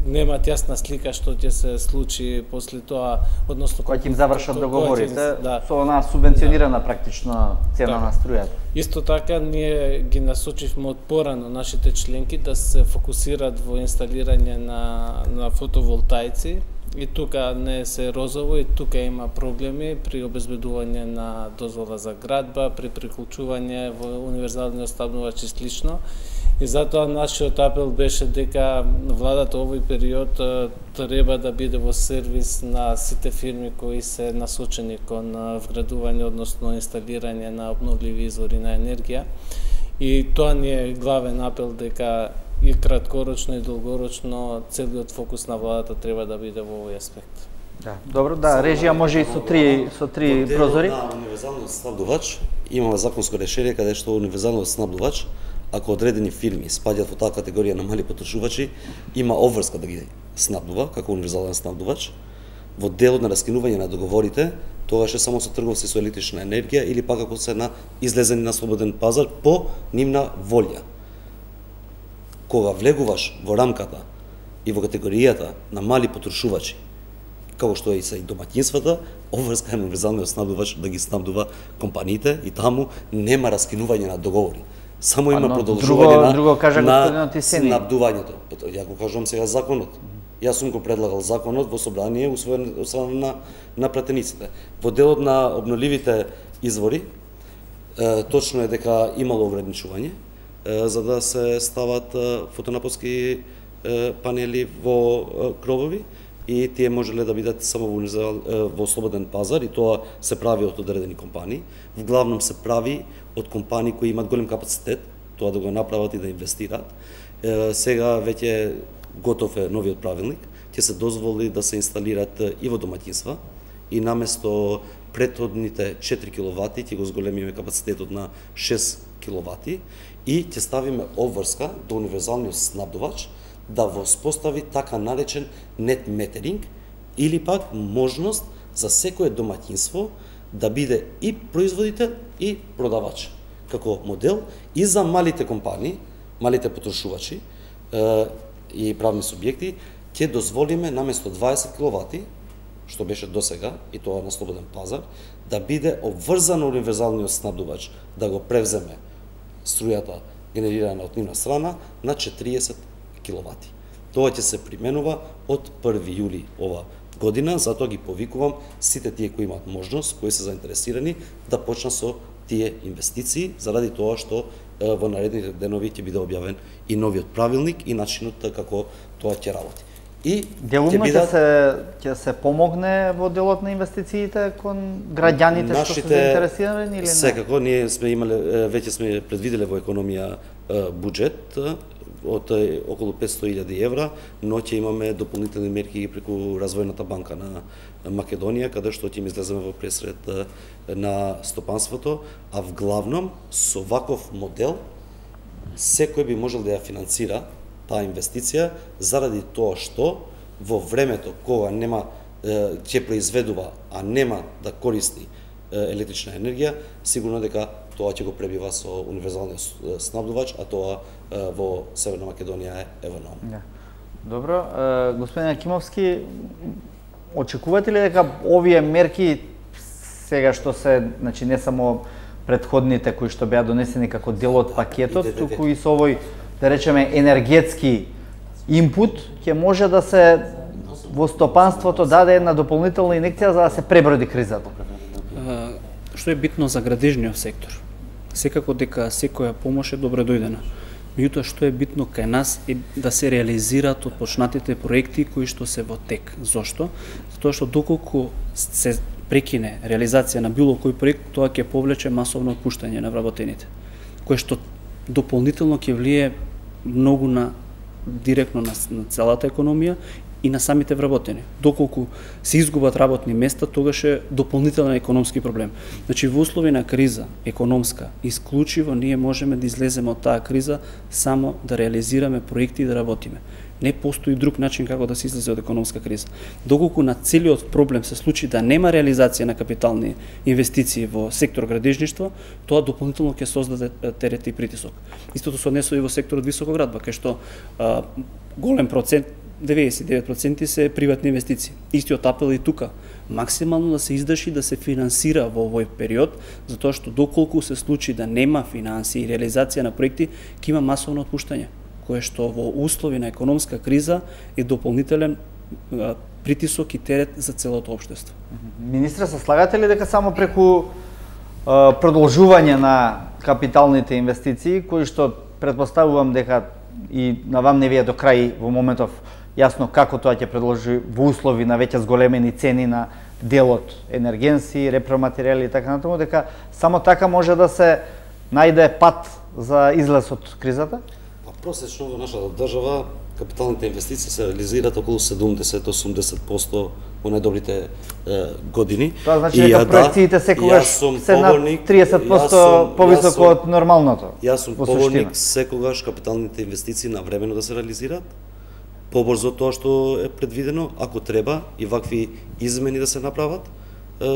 [SPEAKER 4] немаат јасна слика што ќе се случи после тоа, односно
[SPEAKER 1] кога ќе им завршат договорите,
[SPEAKER 4] да,
[SPEAKER 1] со онаа субвенционирана да, практично цена да, на струјата.
[SPEAKER 4] Исто така ние ги насочивме од порано нашите членки да се фокусираат во инсталирање на на фотоволтаици и тука не се розово и тука има проблеми при обезбедување на дозвола за градба, при приклучување во универзалниот снабдувач и слично. И затоа нашиот апел беше дека владата овој период треба да биде во сервис на сите фирми кои се насочени кон вградување, односно инсталирање на обновливи извори на енергија. И тоа ни е главен апел дека и краткорочно и долгорочно целиот фокус на владата треба да биде во овој аспект.
[SPEAKER 1] Да, добро, да, режија може и со три со три прозори.
[SPEAKER 2] На универзалниот снабдувач имаме законско решение каде што универзалниот снабдувач, ако одредени фирми спаѓаат во таа категорија на мали потрошувачи, има обврска да ги снабдува како универзален снабдувач. Во делот на раскинување на договорите, тогаш е само со трговци со електрична енергија или пак ако се на излезени на слободен пазар по нивна волја. Кога влегуваш во рамката и во категоријата на мали потрошувачи, како што е и се и домаќинствата, обврска е универзалниот снабдувач да ги снабдува компаниите и таму нема раскинување на договори. Само има продолжување на,
[SPEAKER 1] друго кажа
[SPEAKER 2] на
[SPEAKER 1] Тисени.
[SPEAKER 2] снабдувањето. Ја го кажувам сега законот. Јас сум го предлагал законот во собрание усвоен, усвоен на, на пратениците. Во делот на обновливите извори, е, точно е дека имало ограничување, е, за да се стават е, фотонапонски е, панели во е, кровови, и тие можеле да бидат само во, во слободен пазар, и тоа се прави од одредени компании. Вглавном се прави од компании кои имаат голем капацитет, тоа да го направат и да инвестираат. Е, сега веќе готов е новиот правилник, ќе се дозволи да се инсталират и во домаќинства, и наместо претходните четири киловати ќе го зголемиме капацитетот на шест киловати и ќе ставиме обврска до универзалниот снабдувач да воспостави така наречен нет метеринг, или пак можност за секое домаќинство да биде и производител и продавач како модел, и за малите компании, малите потрошувачи е, и правни субјекти ќе дозволиме наместо дваесет киловати, што беше досега, и тоа на слободен пазар, да биде обврзан универзалниот снабдувач да го превземе струјата генерирана од нивна страна на четириесет киловати. Тоа ќе се применува од први јули ова година, затоа ги повикувам сите тие кои имаат можност, кои се заинтересирани да почнат со тие инвестиции, заради тоа што е, во наредните денови ќе биде објавен и новиот правилник и начинот како тоа ќе работи. И
[SPEAKER 1] делумно ќе бидат... се ќе се помогне во делот на инвестициите кон граѓаните нашите... што се заинтересирани или не?
[SPEAKER 2] Секако, ние сме имале, веќе сме предвиделе во економија буџет од околу петстотини илјади евра, но ќе имаме дополнителни мерки преку Развојната банка на Македонија, каде што ќе излеземе во пресред на стопанството, а вглавном со ваков модел секој би можел да ја финансира таа инвестиција, заради тоа што во времето кога нема ќе произведува, а нема да користи електрична енергија, сигурно дека тоа ќе го пребива со универзалниот снабдувач, а тоа во Северна Македонија е евономно.
[SPEAKER 1] Да. Добро, господин Акимовски, очекувате ли дека овие мерки сега што се, значи не само претходните кои што беа донесени како дел од пакетот, туку и со овој, да речеме, енергетски импут, ќе може да се во стопанството даде една дополнителна инекција за да се преброди кризата?
[SPEAKER 5] Што е битно за градежниот сектор? Секако дека секоја помош е добре дојдена. Меѓутоа, што е битно кај нас е да се реализираат отпочнатите проекти кои што се во тек. Зошто? Затоа што доколку се прекине реализација на било кој проект, тоа ќе повлече масовно отпуштање на вработените, кое што дополнително ќе влие многу на директно на, на целата економија и на самите вработени. Доколку се изгубат работни места, тогаш е дополнителен економски проблем. Значи, во услови на криза, економска, исклучиво ние можеме да излеземе од таа криза само да реализираме проекти и да работиме. Не постои друг начин како да се излезе од економска криза. Доколку на целиот проблем се случи да нема реализација на капитални инвестиции во сектор градежништво, тоа дополнително ќе создаде терет и притисок. Истото се однесува и во секторот високоградба, кај што а, голем процент, деветдесет и девет проценти се приватни инвестиции. Истиот апел и тука. Максимално да се издржи да се финансира во овој период, затоа што доколку се случи да нема финансии и реализација на проекти, ќе има масовно отпуштање, кое што во услови на економска криза е дополнителен а, притисок и терет за целото општество.
[SPEAKER 1] Министре, се слагате ли дека само преку а, продолжување на капиталните инвестиции, кои што претпоставувам дека и на вам не ви е до крај во моментов јасно како тоа ќе предложи во услови на веќе зголемени цени на делот енергенси, репроматеријали и така натаму, дека само така може да се најде пат за излез од кризата?
[SPEAKER 2] Па просечно во нашата држава капиталните инвестиции се реализираат околу седумдесет до осумдесет проценти во најдобрите е, години.
[SPEAKER 1] Тоа значи дека проекциите секогаш се на триесет проценти повисоко од нормалното.
[SPEAKER 2] Јас сум поборник секогаш капиталните инвестиции навремено да се реализираат, побрзо тоа што е предвидено, ако треба и вакви измени да се направат,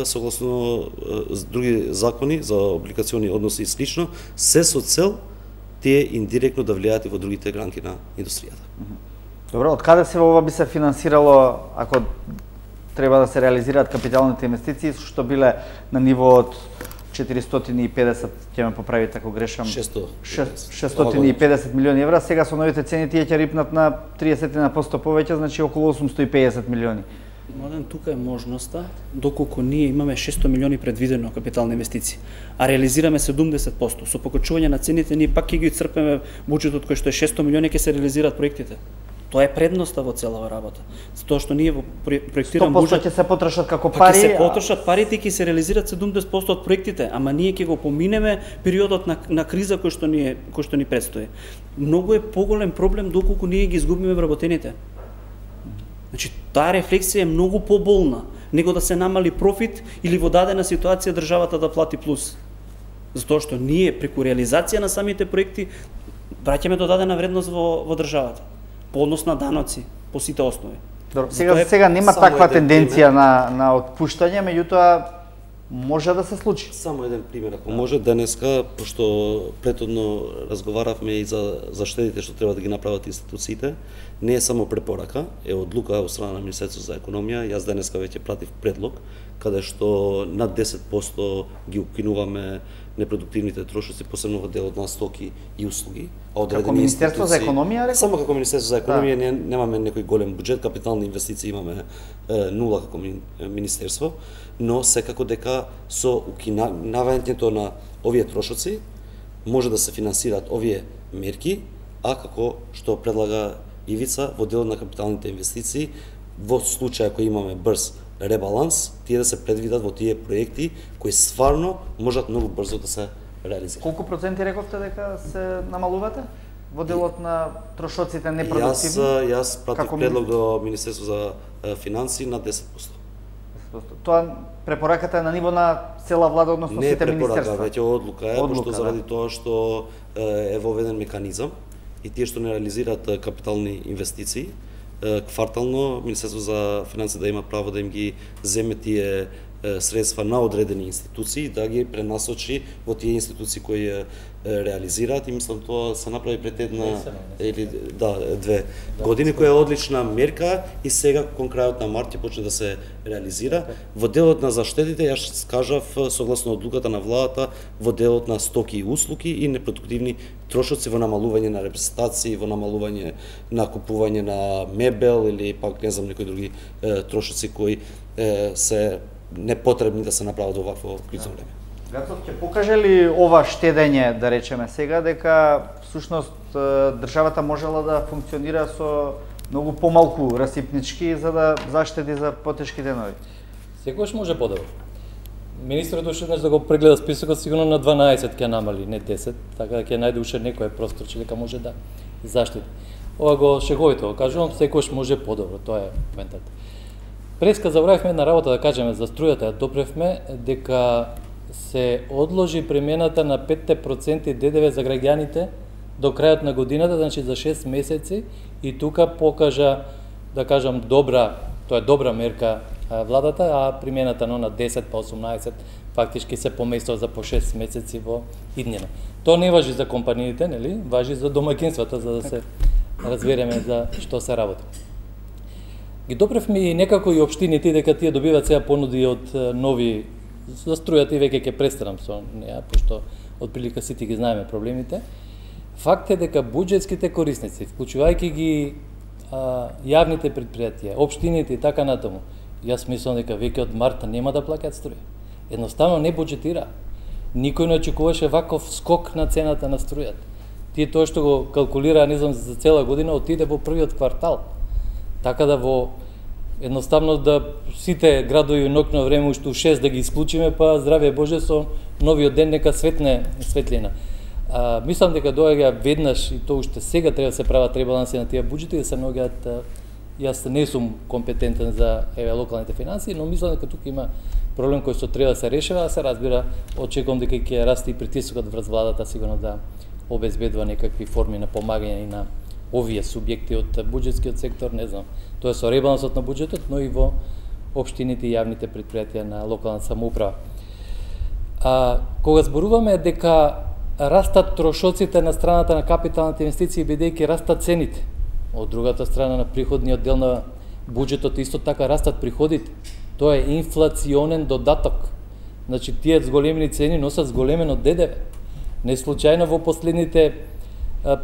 [SPEAKER 2] согласно други закони за облигациони односи и слично, се со цел тие индиректно да влијаат и во другите гранки на индустријата.
[SPEAKER 1] Добро, од каде се ова би се финансирало, ако треба да се реализираат капиталните инвестиции, што биле на ниво од четиристотини и педесет, ќе ме поправите ако грешам, шестстотини и педесет милиони евра, сега со новите цени тие ќе рипнат на триесет на сто повеќе, значи околу осумсто и педесет милиони.
[SPEAKER 5] Младен, тука е можноста, доколку ние имаме шестстотини милиони предвидено капитални инвестиции, а реализираме седумдесет проценти. Со покачување на цените ние пак ќе ги исцрпиме буџетот кој што е шестстотини милиони, ќе се реализираат проектите. Тоа е предноста во целава работа. Тоа што ние во проектиран буџет
[SPEAKER 1] ќе се потрошат како пари,
[SPEAKER 5] ќе се потрошат парите и ќе се реализираат седумдесет проценти од проектите, ама ние ќе го поминеме периодот на, на криза кој што ни кој што ни предстои. Многу е поголем проблем доколку ние ги изгубиме вработените. Значи, таа рефлексија е многу поболна, него да се намали профит или во дадена ситуација државата да плати плюс. Затоа што ние преку реализација на самите проекти праќаме додадена вредност во, во државата, по однос на даноци, по сите основи.
[SPEAKER 1] Добро, сега, сега нема таква тенденција на, на отпуштање, меѓутоа може да се случи.
[SPEAKER 2] Само еден пример, ако може денеска, пошто претhodно разговаравме и за, за штедите што треба да ги направат институциите, не е само препорака, е одлука од страна на Министерството за економија. Јас денеска веќе пратив предлог, каде што над десет проценти ги укинуваме непродуктивните трошоци, посебно во делот на стоки и услуги. А
[SPEAKER 1] како Министерство за економија, рекол?
[SPEAKER 2] Само како Министерство за економија, да. не, немаме некој голем буџет, капитални инвестиции имаме е, нула како Министерство, но секако дека со укинавањето на овие трошоци може да се финансираат овие мерки, а како што предлага Ивица во делот на капиталните инвестиции, во случај ако имаме брз ребаланс, тие да се предвидат во тие проекти кои стварно можат многу брзо да се реализираат.
[SPEAKER 1] Колку проценти рековте дека се намалувате во делот на трошоците непродуктивни?
[SPEAKER 2] Јас јас пратив како предлог до Министерство за финансии на десет проценти.
[SPEAKER 1] Тоа препораката е на ниво на цела влада, односно
[SPEAKER 2] не
[SPEAKER 1] сите министерства?
[SPEAKER 2] Не препорака, веќе одлука е,
[SPEAKER 1] одлука,
[SPEAKER 2] пошто заради
[SPEAKER 1] да.
[SPEAKER 2] тоа што е воведен механизам и тие што не реализираат капитални инвестиции, квартално Министерство за финансии да има право да им ги земе тие средства на одредени институции, да ги пренасочи во тие институции кои реализираат, и мислам тоа се направи пред една или да две да, години, која е одлична мерка и сега кон крајот на март ќе почне да се реализира. Во делот на заштедите, јас кажав согласно одлуката на владата, во делот на стоки и услуги и непродуктивни трошоци, во намалување на репрезентации, во намалување на купување на мебел или пак не знам некои други е, трошоци кои е, се непотребни да се направат во вакво кризно време.
[SPEAKER 1] Гацов, ќе покаже ли ова штедење, да речеме сега, дека всушност државата можела да функционира со многу помалку расипнички за да заштеди за потешки денови?
[SPEAKER 3] Секогаш може подобро. Министерот уште еднаш да го прегледа списокот, сигурно на дванаесет ќе намали, не десет, така да ќе најде уште некој простор че дека може да заштеди. Ова го шеговито го кажувам, секогаш може подобро, тоа е моментот. Преска забравивме една работа да кажеме за струјата, ја допревме дека се одложи примената на пет проценти ДДВ за граѓаните до крајот на годината, значи за шест месеци, и тука покажа, да кажам, добра, тоа е добра мерка владата, а примената на десет па осумнаесет фактички се поместува за по шест месеци во иднина. Тоа не важи за компаниите, нели? Важи за домаќинствата, за да се разбереме за што се работи. Ги допревме и некако и општините дека тие добиваат сега понуди од нови за струјата, и веќе ќе престанам со неа, пошто отприлика сите ги знаеме проблемите. Факт е дека буџетските корисници, вклучувајќи ги а, јавните предпријатија, општините и така натаму, јас мислам дека веќе од март нема да плаќаат струја. Едноставно не буџетира. Никој не очекуваше ваков скок на цената на струјата. Тие тоа што го калкулира, не знам, за цела година отиде во првиот квартал. Така да во едноставно да сите градови ноќно време уште у шест да ги исклучиме, па здравје Боже со новиот ден нека светне светлина. А, мислам дека доаѓа веднаш, и тоа уште сега треба да се прават ребаланси на тие буџети, да се наоѓаат. Јас не сум компетентен за еве локалните финансии, но мислам дека тука има проблем кој што треба да се решава, да се разбира. Очекувам дека ќе расте и притисокот врз владата сигурно да обезбедува некакви форми на помагање и на овие субјекти од буџетскиот сектор, не знам, тоа е со ребалансот на буџетот, но и во општините и јавните предпријатија на локална самоуправа. А, кога зборуваме дека растат трошоците на страната на капиталните инвестиции, бидејќи растат цените, од другата страна на приходниот дел на Буџетот исто така растат приходите. Тоа е инфлационен додаток. Значи тие зголемени цени носат зголемено Д Д В. Не случајно во последните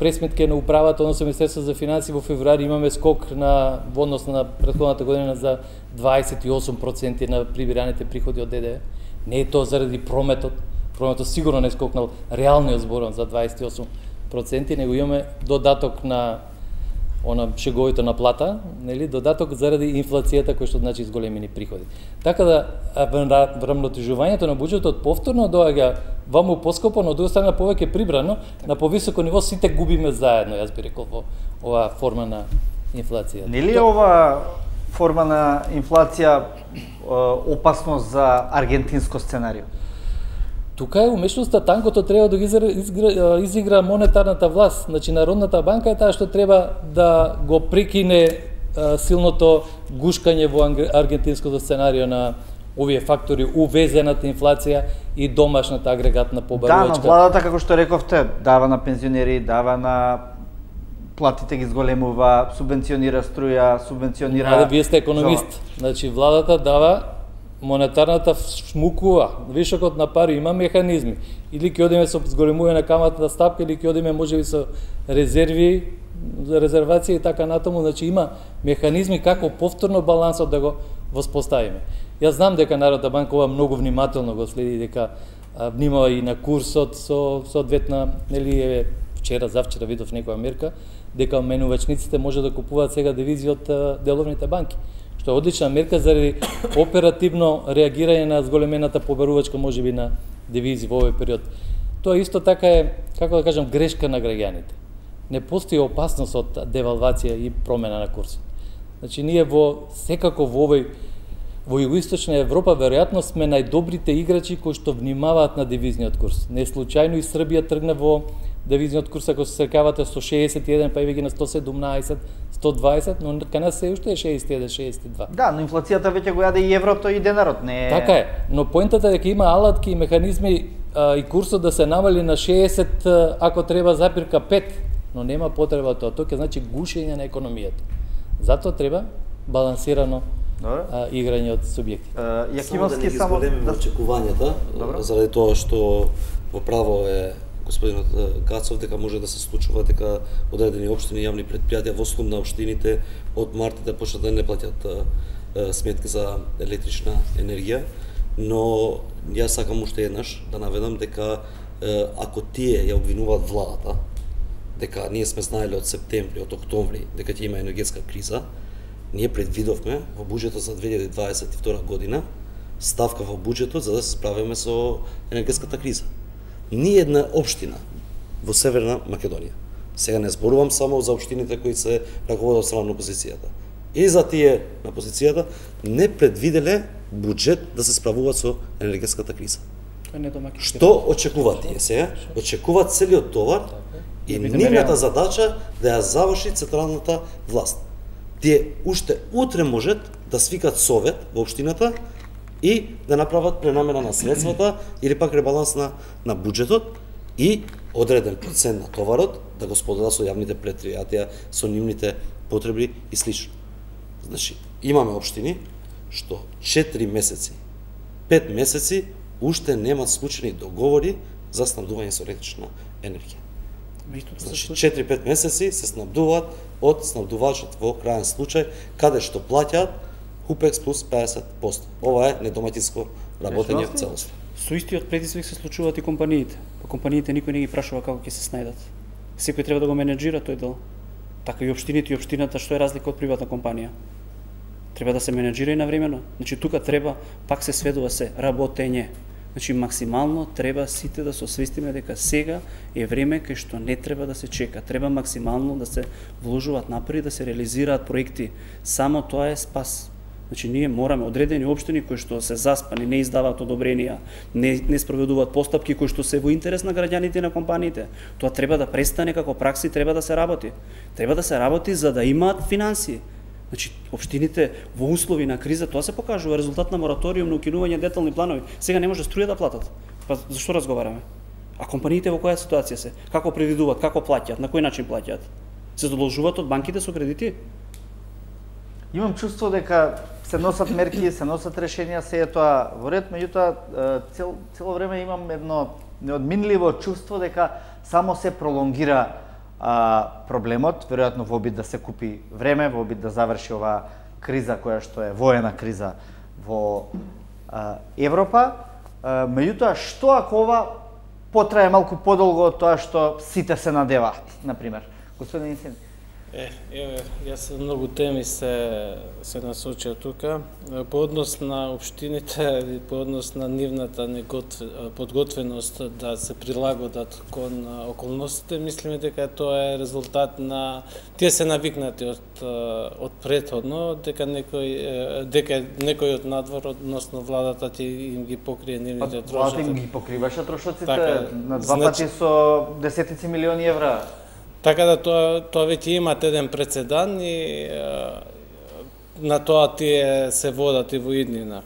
[SPEAKER 3] пресметки на управата, односно Министерство за финансии во февруари имаме скок на во однос на претходната година за дваесет и осум проценти на прибираните приходи од Д Д В. Не е тоа заради прометот. Прометот сигурно не скокнал реалниот зборот за дваесет и осум проценти, него имаме додаток на она шеговито на плата, нели, додаток заради инфлацијата кој што значи зголемени приходи. Така да врамнотежувањето на буџетот повторно доаѓа ваму поскопо, но од друга страна повеќе прибрано, на повисоко ниво сите губиме заедно, јас би рекол, во оваа форма на инфлација.
[SPEAKER 1] Нели е ова форма на инфлација опасно за аргентинско сценарио?
[SPEAKER 3] Тука е умешноста, танкото треба да ги изигра, изигра монетарната власт. Значи, Народната банка е таа што треба да го прекине а, силното гушкање во аргентинското сценарио на овие фактори, увезената инфлација и домашната агрегатна побарувачка.
[SPEAKER 1] Да, но владата, како што рековте, дава на пензионери, дава на платите ги зголемува, субвенционира струја, субвенционира...
[SPEAKER 3] Да, вие сте економист. Значи, владата дава, монетарната шмукува, вишокот на пари, има механизми. Или ќе одиме со зголемување на каматната стапка, или ќе одиме можеби со резерви, резервација и така натаму. Значи има механизми како повторно балансот да го воспоставиме. Јас знам дека Народна банка ова многу внимателно го следи, дека а, внимава и на курсот со соодветна, нели е вчера, завчера видов некоја мерка, дека менувачниците може да купуваат сега девизи од а, деловните банки. Што е одлична мерка заради оперативно реагирање на зголемената побарувачка можеби на девизи во овој период. Тоа исто така е, како да кажам, грешка на граѓаните. Не постои опасност од девалвација и промена на курсот. Значи ние во секако во овој во југоисточна Европа веројатно сме најдобрите играчи кои што внимаваат на девизниот курс. Не случајно и Србија тргна во девизниот курс, ако се срекавате со шеесет и еден, па и ги на сто седумнаесет, сто дваесет, но кај нас се уште е шеесет и еден, шеесет и два.
[SPEAKER 1] Да, но инфлацијата веќе го јаде и еврото и денарот, не е...
[SPEAKER 3] Така е, но поентата е дека има алатки и механизми а, и курсот да се намали на шеесет, ако треба запирка пет, но нема потреба тоа, тоа ќе значи гушење на економијата. Затоа треба балансирано а, играње од субјекти.
[SPEAKER 1] Јакимовски
[SPEAKER 2] само да не ги зголемиме очекувањата, заради тоа што во право е господинот Гацов дека може да се случува дека одредени општини и јавни предпријатија во слум на општините од март да почнат да не плаќат сметки за електрична енергија, но јас сакам уште еднаш да наведам дека ако тие ја обвинуваат владата дека ние сме знаеле од септември, од октомври дека ќе има енергетска криза, ние предвидовме во буџетот за две илјади дваесет и втора година ставка во буџетот за да се справиме со енергетската криза. Ни една општина во Северна Македонија, сега не зборувам само за општините кои се раководат од страна на опозицијата, и за тие на опозицијата не предвиделе буџет да се справуваат со енергетската криза. Што очекуваат тие сега? Очекуваат целиот товар и нивната задача да ја заврши централната власт. Тие уште утре можат да свикат совет во општината и да направат пренамена на средствата или пак ребаланс на, на буџетот и одреден процент на товарот да го споделат со јавните предпријатија, со нивните потреби и слично. Значи, имаме општини што четири месеци, пет месеци уште немаат склучени договори за снабдување со електрична енергија. Значи, четири-пет месеци се снабдуваат од снабдувачот во крајен случај, каде што плаќаат Хупекс плюс педесет проценти. Ова е недоматинско работење целосно.
[SPEAKER 5] Со истиот притиск се случуваат и компаниите. Па компаниите никој не ги прашува како ќе се снајдат. Секој треба да го менеджира тој дел. Така и општините и општината, што е разлика од приватна компанија. Треба да се менеджира и навремено. Значи тука треба, пак се сведува се, работење. Значи максимално треба сите да се освестиме дека сега е време кај што не треба да се чека. Треба максимално да се вложуваат напори, да се реализираат проекти. Само тоа е спас. Значи ние мораме одредени општини кои што се заспани, не издаваат одобренија, не не спроведуваат постапки кои што се во интерес на граѓаните и на компаниите. Тоа треба да престане како пракса и треба да се работи. Треба да се работи за да имаат финансии. Значи општините во услови на криза тоа се покажува резултат на мораториум на укинување детални планови. Сега не може струја да платат. Па зашто разговараме? А компаниите во која ситуација се? Како предвидуваат, како плаќаат, на кој начин плаќаат? Се задолжуваат од банките со кредити?
[SPEAKER 1] Имам чувство дека се носат мерки, се носат решенија, се е тоа во ред, меѓутоа цел, цело време имам едно неодминливо чувство дека само се пролонгира а, проблемот, веројатно во обид да се купи време, во обид да заврши оваа криза која што е воена криза во а, Европа. А, меѓутоа, што ако ова потрае малку подолго од тоа што сите се надеваат, например? Господин Инсен.
[SPEAKER 4] Е, еве, јас многу теми се се насочија тука. По однос на општините, по однос на нивната негот, подготвеност да се прилагодат кон околностите, мислиме дека тоа е резултат на тие се навикнати од од претходно, дека некој дека некој од надвор, односно владата ти им ги покрие нивните трошоци.
[SPEAKER 1] Владата им ги покриваше трошоците
[SPEAKER 4] така,
[SPEAKER 1] на два значи... пати со десетици милиони евра.
[SPEAKER 4] Така да тоа тоа веќе имат еден прецедан и а, на тоа тие се водат и во иднина.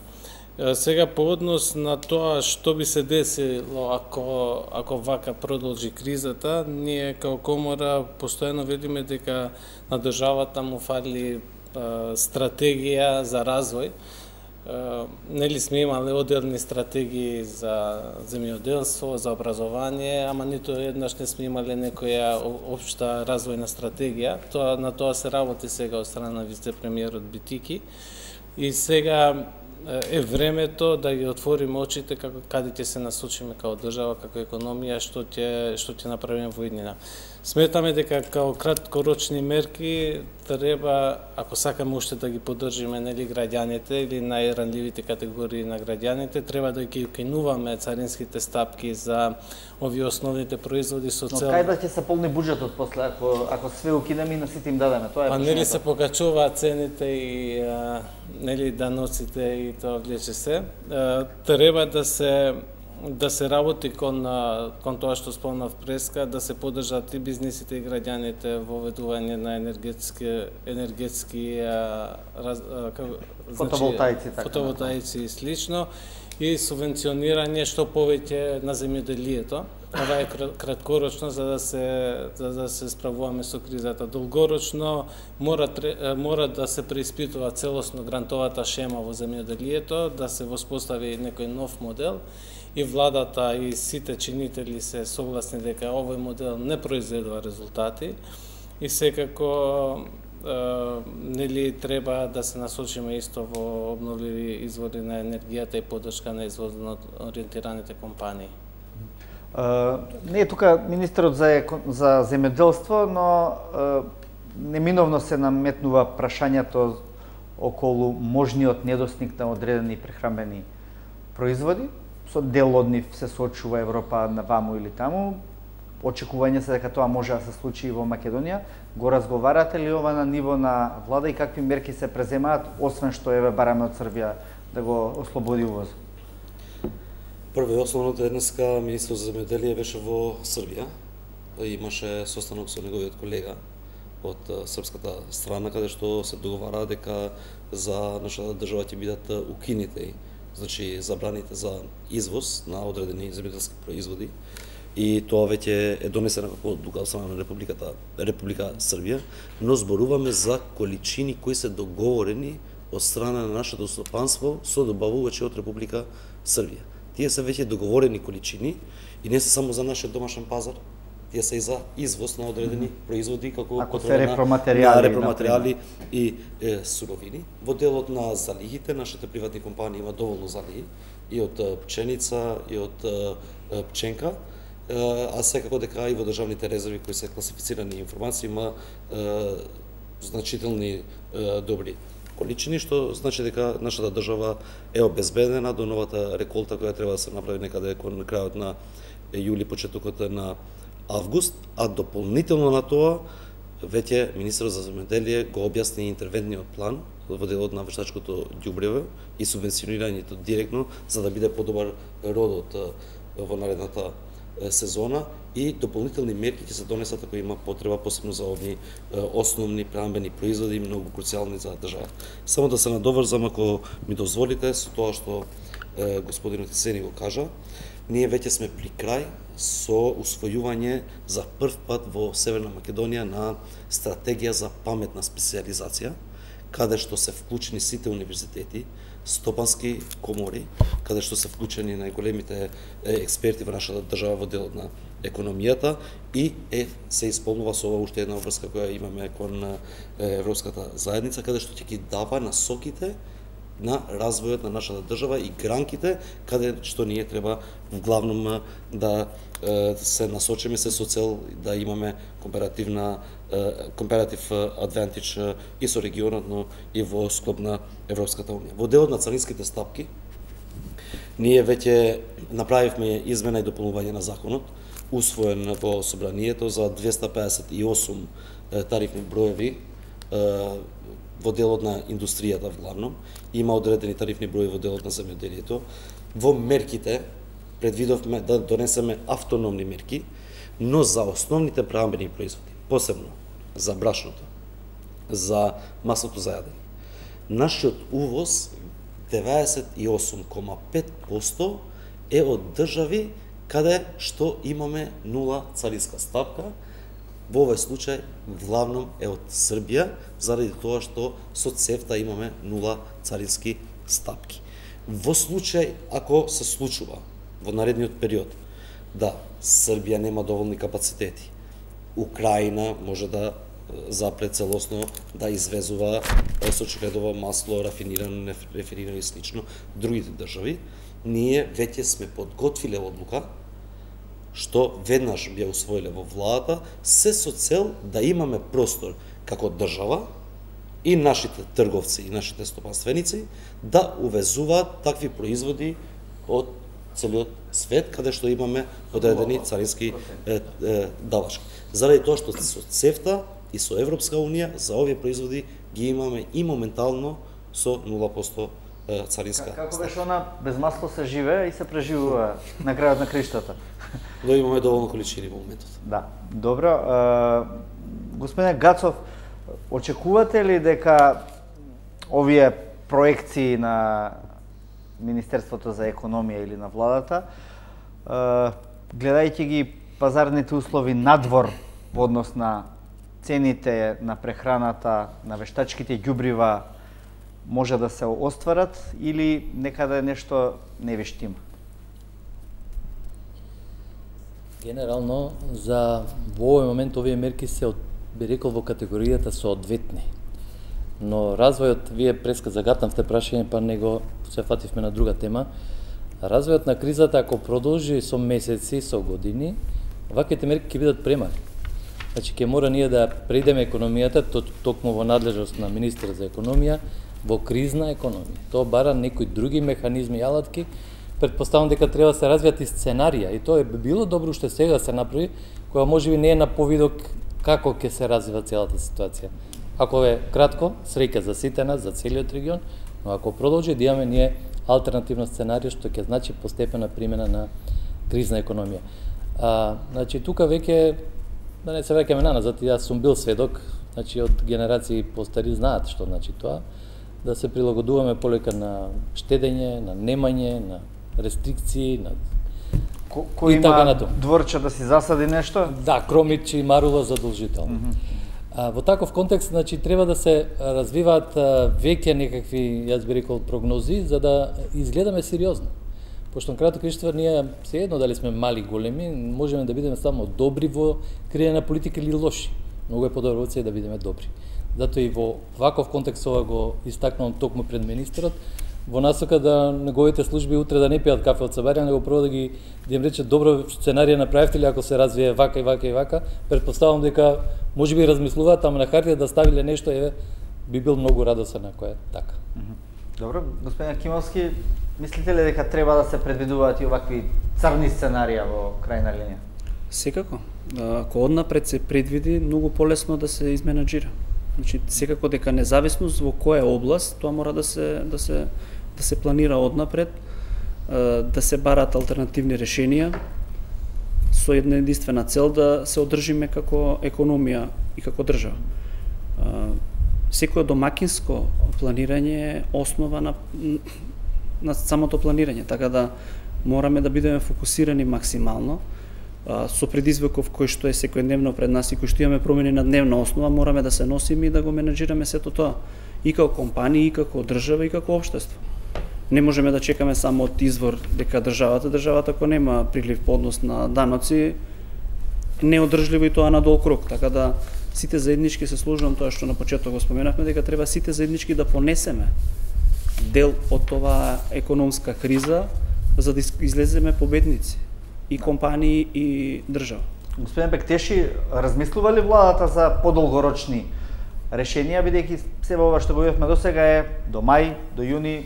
[SPEAKER 4] А, сега по однос на тоа што би се десило ако ако вака продолжи кризата, ние како комора постојано видиме дека на државата му фали а, стратегија за развој. Uh, нели сме имале одделни стратегии за земјоделство, за образование, ама ниту еднаш не сме имале некоја општа развојна стратегија. Тоа на тоа се работи сега од страна на вице-премиерот Битики. И сега е времето да ги отвориме очите како каде ќе се насочиме како држава, како економија, што ќе што ќе направиме во иднина. Сметаме дека како краткорочни мерки треба, ако сакаме уште да ги поддржиме нели граѓаните или најранливите категории на граѓаните, треба да ги укинуваме царинските стапки за овие основните производи со цел.
[SPEAKER 1] Но кај да ќе се полни буџетот после ако ако све укинеме и на сите им дадеме? Тоа е.
[SPEAKER 4] Па нели се покачуваат цените и а, нели даноците и тоа влече се. А, треба да се да се работи кон кон тоа што спомнав преска, да се поддржат и бизнисите и граѓаните во воведување на енергетски енергетски а, раз, а, как,
[SPEAKER 1] фотоволтаици,
[SPEAKER 4] значи, така, фотоволтаици и слично, и субвенционирање што повеќе на земјоделието. Ова е краткорочно за да се за да се справуваме со кризата. Долгорочно мора мора да се преиспитува целосно грантовата шема во земјоделието, да се воспостави некој нов модел. И владата и сите чинители се согласни дека овој модел не произведува резултати и секако е, нели треба да се насочиме исто во обновливи извори на енергијата и поддршка на извозно ориентираните компании.
[SPEAKER 1] Uh, не е тука министерот за, за земјоделство, но uh, неминовно се наметнува прашањето околу можниот недостиг на одредени прехранбени производи. Со дел од нив се соочува Европа на ваму или таму. Очекување се дека тоа може да се случи и во Македонија. Го разговарате ли ова на ниво на влада и какви мерки се преземаат, освен што еве бараме од Србија да го ослободи увоз?
[SPEAKER 2] Прво и основно денеска министерот за земјоделие беше во Србија. Имаше состанок со неговиот колега од српската страна, каде што се договара дека за нашата држава ќе бидат укинете, значи забраните за извоз на одредени земјоделски производи. И тоа веќе е донесено како одлука од страна на Републиката Република Србија, но зборуваме за количини кои се договорени од страна на нашето стопанство со добавувачи од Република Србија. Тие се веќе договорени количини и не се само за нашиот домашен пазар, тие се и за извоз на одредени mm -hmm. производи како
[SPEAKER 1] ако се репроматеријали,
[SPEAKER 2] на репроматеријали и е, суровини. Во делот на залигите, нашите приватни компании има доволно залиги и од пченица и од е, пченка, е, а секако дека и во државните резерви кои се класифицирани информации има е, значителни е, добри количини, што значи дека нашата држава е обезбедена до новата реколта која треба да се направи некаде кон крајот на јули, почетокот на август, а дополнително на тоа веќе министерот за земјоделие го објасни интервентниот план во делот на вештачкото ѓубрево и субвенционирањето директно за да биде подобар родот во наредната сезона и дополнителни мерки ќе се донесат ако има потреба, посебно за овие основни прехранбени производи многу круцијални за државата. Само да се надоврзам, ако ми дозволите, со тоа што е, господинот Исени го кажа, ние веќе сме при крај со усвојување за прв пат во Северна Македонија на стратегија за паметна специјализација, каде што се вклучени сите универзитети, стопански комори, каде што се вклучени најголемите експерти во нашата држава во делот на економијата и е се исполнува со ова уште една обврска која имаме кон Европската заедница, каде што ќе ги дава насоките на развојот на нашата држава и гранките каде што ние треба вглавном да се насочиме се со цел да имаме комперативна компаратив адвантич и со регионот, но и во склоп на Европската унија. Во делот на царинските стапки ние веќе направивме измена и дополнување на законот, усвоен во собранието за двеста пеесет и осум тарифни броеви во делот на индустријата вглавном, има одредени тарифни брои во делот на земјоделието. Во мерките предвидовме да донесеме автономни мерки, но за основните преамбени производи, посебно за брашното, за маслото за јадење. Нашиот увоз деветдесет и осум кома пет проценти е од држави каде што имаме нула царинска стапка. Во овој случај главном е од Србија, заради тоа што со ЦЕФТА имаме нула царински стапки. Во случај ако се случува во наредниот период да Србија нема доволни капацитети, Украина може да запре целосно да извезува сочигледово масло, рафинирано, нефинирано и слично другите држави, ние веќе сме подготвиле одлука што веднаш би ја усвоиле во владата, се со цел да имаме простор како држава и нашите трговци и нашите стопанственици да увезуваат такви производи од целиот свет, каде што имаме одредени царински е, е, давачки. Заради тоа што со ЦЕФТА и со Европска унија за овие производи ги имаме и моментално со нула проценти царинска.
[SPEAKER 1] Како беше она, без масло се живее и се преживува на крајот на криштата?
[SPEAKER 2] Но имаме доволно количини во моментот.
[SPEAKER 1] Да, добро. Господине Гацов, очекувате ли дека овие проекции на Министерството за економија или на владата, гледајќи ги пазарните услови надвор во однос на цените на прехраната, на вештачките ѓубрива, може да се остварат или некаде нешто не вештима?
[SPEAKER 3] Генерално, за во овој момент овие мерки се, би рекол, во категоријата соодветни. Но развојот, вие преска загатнавте прашање, па него се фативме на друга тема. Развојот на кризата, ако продолжи со месеци, со години, ваквите мерки ќе бидат премали. Значи, ќе мора ние да преидеме економијата, токму во надлежност на министер за економија, во кризна економија. Тоа бара некои други механизми и алатки. Предпоставам дека треба да се развијат и сценарија, и тоа би било добро уште сега се направи, која можеби не е на повидок како ќе се развива целата ситуација. Ако е кратко, среќа за сите нас, за целиот регион, но ако продолжи да имаме ние алтернативно сценарија што ќе значи постепена примена на кризна економија. А, значи тука веќе да не се враќаме на назад, јас сум бил сведок, значи од генерации постари знаат што значи тоа, да се прилагодуваме полека на штедење, на немање, на рестрикции, на
[SPEAKER 1] Ко, кој има дворче да си засади нешто?
[SPEAKER 3] Да, кромичи, марула задолжително. Mm -hmm. а, во таков контекст, значи, треба да се развиваат а, веќе некакви, јас би рекол, прогнози, за да изгледаме сериозно. Пошто на крајот на краиштата ние се едно дали сме мали, големи, можеме да бидеме само добри во креање на политика или лоши. Многу е подобро од се да бидеме добри. Затоа и во ваков контекст ова го истакнувам токму пред министерот, во насока да неговите служби утре да не пијат кафе од сабарија, него прво да ги да им рече добро сценарија направивте ли ако се развие вака и вака и вака. Предпоставам дека можеби размислуваат, ама на хартија да ставиле нешто, еве би бил многу радосен ако е така.
[SPEAKER 1] Добро, господин Акимовски, мислите ли дека треба да се предвидуваат и овакви црни сценарија во крајна линија?
[SPEAKER 5] Секако. Ако однапред се предвиди, многу полесно да се изменаџира. Значи, секако дека независност во која област, тоа мора да се да се да се планира однапред, да се барат алтернативни решенија со една единствена цел да се одржиме како економија и како држава. Секој домакинско планирање е основа на на самото планирање, така да мораме да бидеме фокусирани максимално со предизвиков кој што е секојдневно пред нас и кој што имаме промени на дневна основа, мораме да се носиме и да го менеджираме сето тоа. И како компании, и како држава, и како општество. Не можеме да чекаме само од извор дека државата, државата ако нема прилив по однос на даноци, неодржливо и тоа на дол круг. Така да сите заеднички се служувам тоа што на почеток го споменавме, дека треба сите заеднички да понесеме дел од тоа економска криза за да излеземе победници и компании и држава.
[SPEAKER 1] Господин Бектеши, размислува ли владата за подолгорочни решенија, бидејќи себе ова што го видовме досега е до мај, до јуни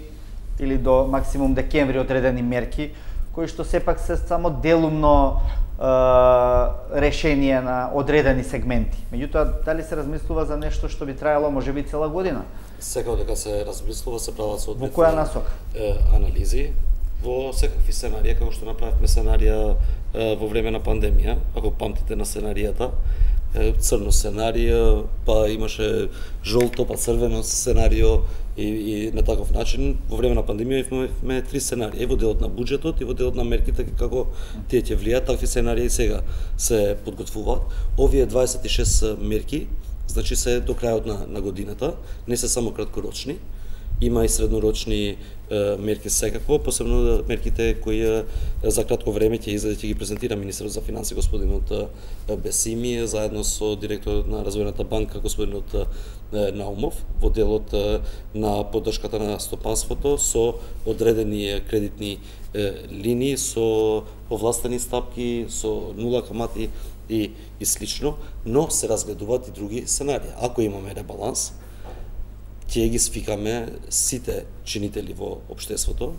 [SPEAKER 1] или до максимум декември одредени мерки, кои што сепак се само делумно е, решение на одредени сегменти. Меѓутоа, дали се размислува за нешто што би траело можеби цела година?
[SPEAKER 2] Секако дека се размислува, се прават соодветни
[SPEAKER 1] во која насока?
[SPEAKER 2] анализи во секакви сценарија, како што направивме сценарија е, во време на пандемија, ако памтите на сценаријата, е, црно сценарија, па имаше жолто, па црвено сценарио и, и на таков начин во време на пандемија имавме три сценарија, и во делот на буџетот, и во делот на мерките како тие ќе влијаат, такви сценарии сега се подготвуваат. Овие дваесет и шест мерки, значи се до крајот на, на годината, не се само краткорочни, има и среднорочни е, мерки секако, посебно мерките кои е, за кратко време ќе излезе, ќе ги презентира министерот за финансии господинот Бесими заедно со директорот на Развојната банка господинот е, Наумов во делот е, на поддршката на стопанството со одредени кредитни е, линии, со повластени стапки, со нула камати и, и слично, но се разгледуваат и други сценарии. Ако имаме ребаланс, ќе ги свикаме сите чинители во општеството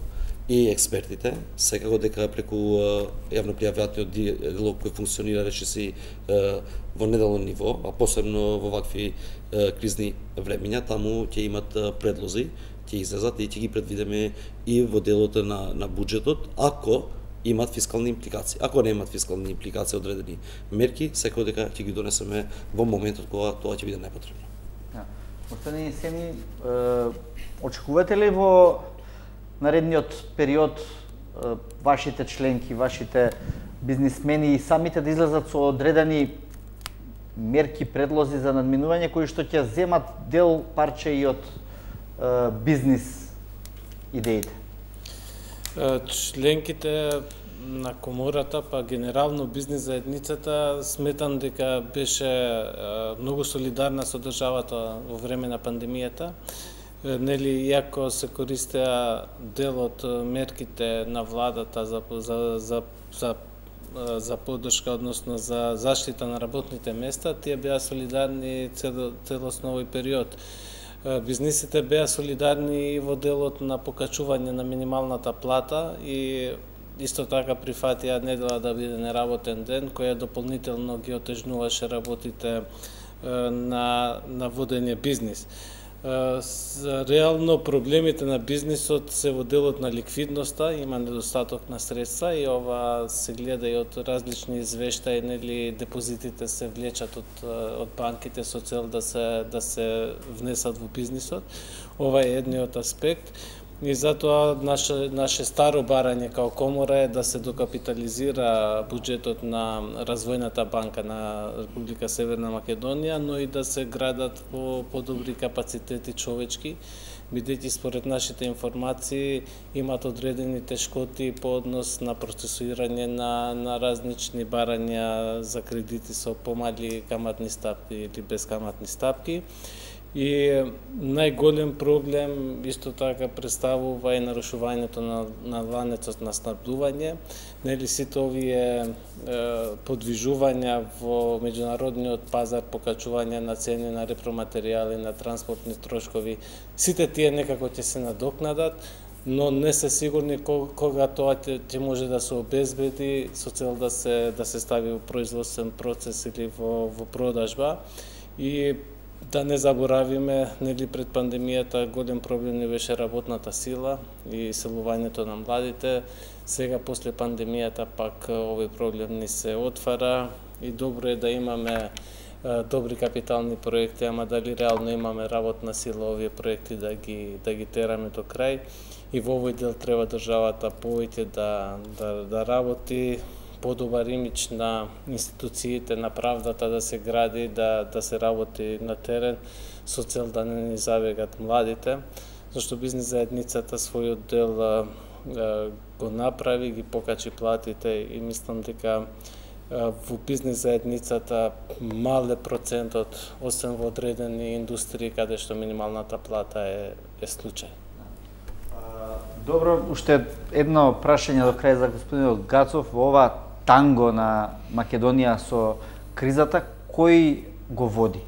[SPEAKER 2] и експертите, секако дека преку јавно-пријавниот диалог кој функционира речиси во неделно ниво, а посебно во вакви кризни времиња, таму ќе имат предлози, ќе излезат и ќе ги предвидиме и во делот на, на буџетот, ако имат фискални импликации. Ако не имат фискални импликации одредени мерки, секако дека ќе ги донесеме во моментот кога тоа ќе биде непотребно.
[SPEAKER 1] Господин Сени, очекувате ли во наредниот период вашите членки, вашите бизнисмени и самите да излезат со одредени мерки, предлози за надминување кои што ќе земат дел парче и од бизнис идеите?
[SPEAKER 4] Членките на комората, па генерално бизнис заедницата, сметам дека беше многу солидарна со државата во време на пандемијата. Нели, иако се користеа дел од мерките на владата за, за, за, за, за поддршка, односно за заштита на работните места, тие беа солидарни цел, целосно овој период. Бизнисите беа солидарни и во делот на покачување на минималната плата и исто така прифатија недела да биде неработен ден, која дополнително ги отежнуваше работите на, на водење бизнис. Реално проблемите на бизнисот се во делот на ликвидноста, има недостаток на средства и ова се гледа и од различни извештаи, нели депозитите се влечат од, од банките со цел да се да се внесат во бизнисот. Ова е едниот аспект. И затоа наше, наше старо барање као комора е да се докапитализира буџетот на Развојната банка на Република Северна Македонија, но и да се градат по подобри капацитети човечки, бидејќи според нашите информации имат одредени тешкоти по однос на процесуирање на, на различни барања за кредити со помали каматни стапки или безкаматни стапки. И најголем проблем исто така представува и нарушувањето на, на ланецот на снабдување. Нели сите овие е, подвижувања во меѓународниот пазар, покачување на цени на репроматеријали, на транспортни трошкови, сите тие некако ќе се надокнадат, но не се сигурни кога тоа ќе може да се обезбеди со цел да се да се стави во производствен процес или во во продажба. И да не заборавиме, нели пред пандемијата голем проблем не беше работната сила и селувањето на младите. Сега после пандемијата пак овој проблем ни се отвара и добро е да имаме добри капитални проекти, ама дали реално имаме работна сила овие проекти да ги да ги тераме до крај. И во овој дел треба државата повеќе да да да работи, подобар имидж на институциите, на правдата да се гради, да, да се работи на терен, со цел да не ни забегат младите, зашто бизнес заедницата својот дел а, а, го направи, ги покачи платите и мислам дека а, во бизнес заедницата мале процентот, освен во одредени индустрии каде што минималната плата е, е случај.
[SPEAKER 1] Добро, уште едно прашање до крај за господинот Гацов. Во ова танго на Македонија со кризата, кој го води?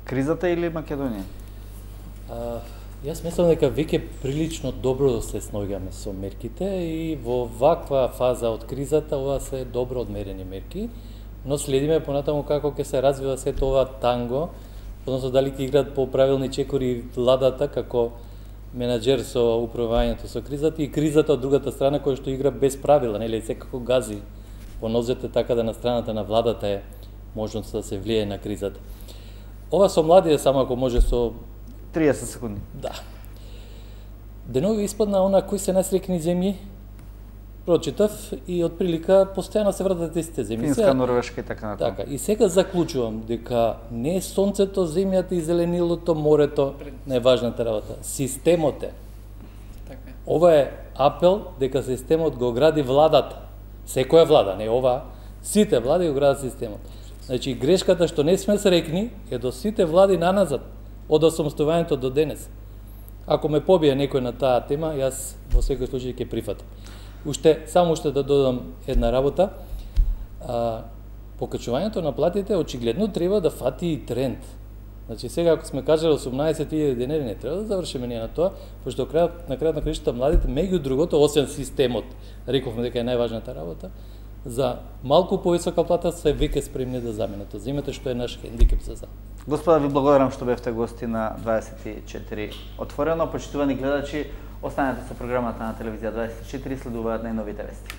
[SPEAKER 1] Кризата или Македонија?
[SPEAKER 3] А, јас мислам дека веќе прилично добро се сноѓаме со мерките и во ваква фаза од кризата ова се добро одмерени мерки, но следиме понатаму како ќе се развива сето ова танго, односно дали ќе играат по правилни чекори владата како менаџер со управувањето со кризата и кризата од другата страна која што игра без правила, нели секако гази по нозете, така да на страната на владата е можност да се влие на кризата. Ова со младите само ако може со
[SPEAKER 1] триесет секунди.
[SPEAKER 3] Да. Денови испадна она кои се најсрекни земји. Прочитав и од прилика постојано се вратат истите земји.
[SPEAKER 1] Финска, Норвешка и така натаму.
[SPEAKER 3] Така, и сега заклучувам дека не е сонцето, земјата и зеленилото, морето најважната работа. Системот е.
[SPEAKER 5] Така е.
[SPEAKER 3] Ова е апел дека системот го гради владата. Секоја влада, не ова, сите влади го градат системот. Значи грешката што не сме срекни е до сите влади наназад од осамостојувањето до денес. Ако ме побие некој на таа тема, јас во секој случај ќе прифатам. Уште, само уште да додам една работа. А, покачувањето на платите очигледно треба да фати и тренд. Значи сега ако сме кажали осумнаесет илјади денари, не треба да завршиме ние на тоа, пошто крајот на крајот на краишта младите меѓу другото, освен системот, рековме дека е најважната работа, за малку повисока плата се веќе спремни да заменат. Земете што е наш хендикеп за за.
[SPEAKER 1] Господа, ви благодарам што бевте гости на дваесет и четири Отворено. Почитувани гледачи, останете со програмата на телевизија дваесет и четири, следуваат најновите вести.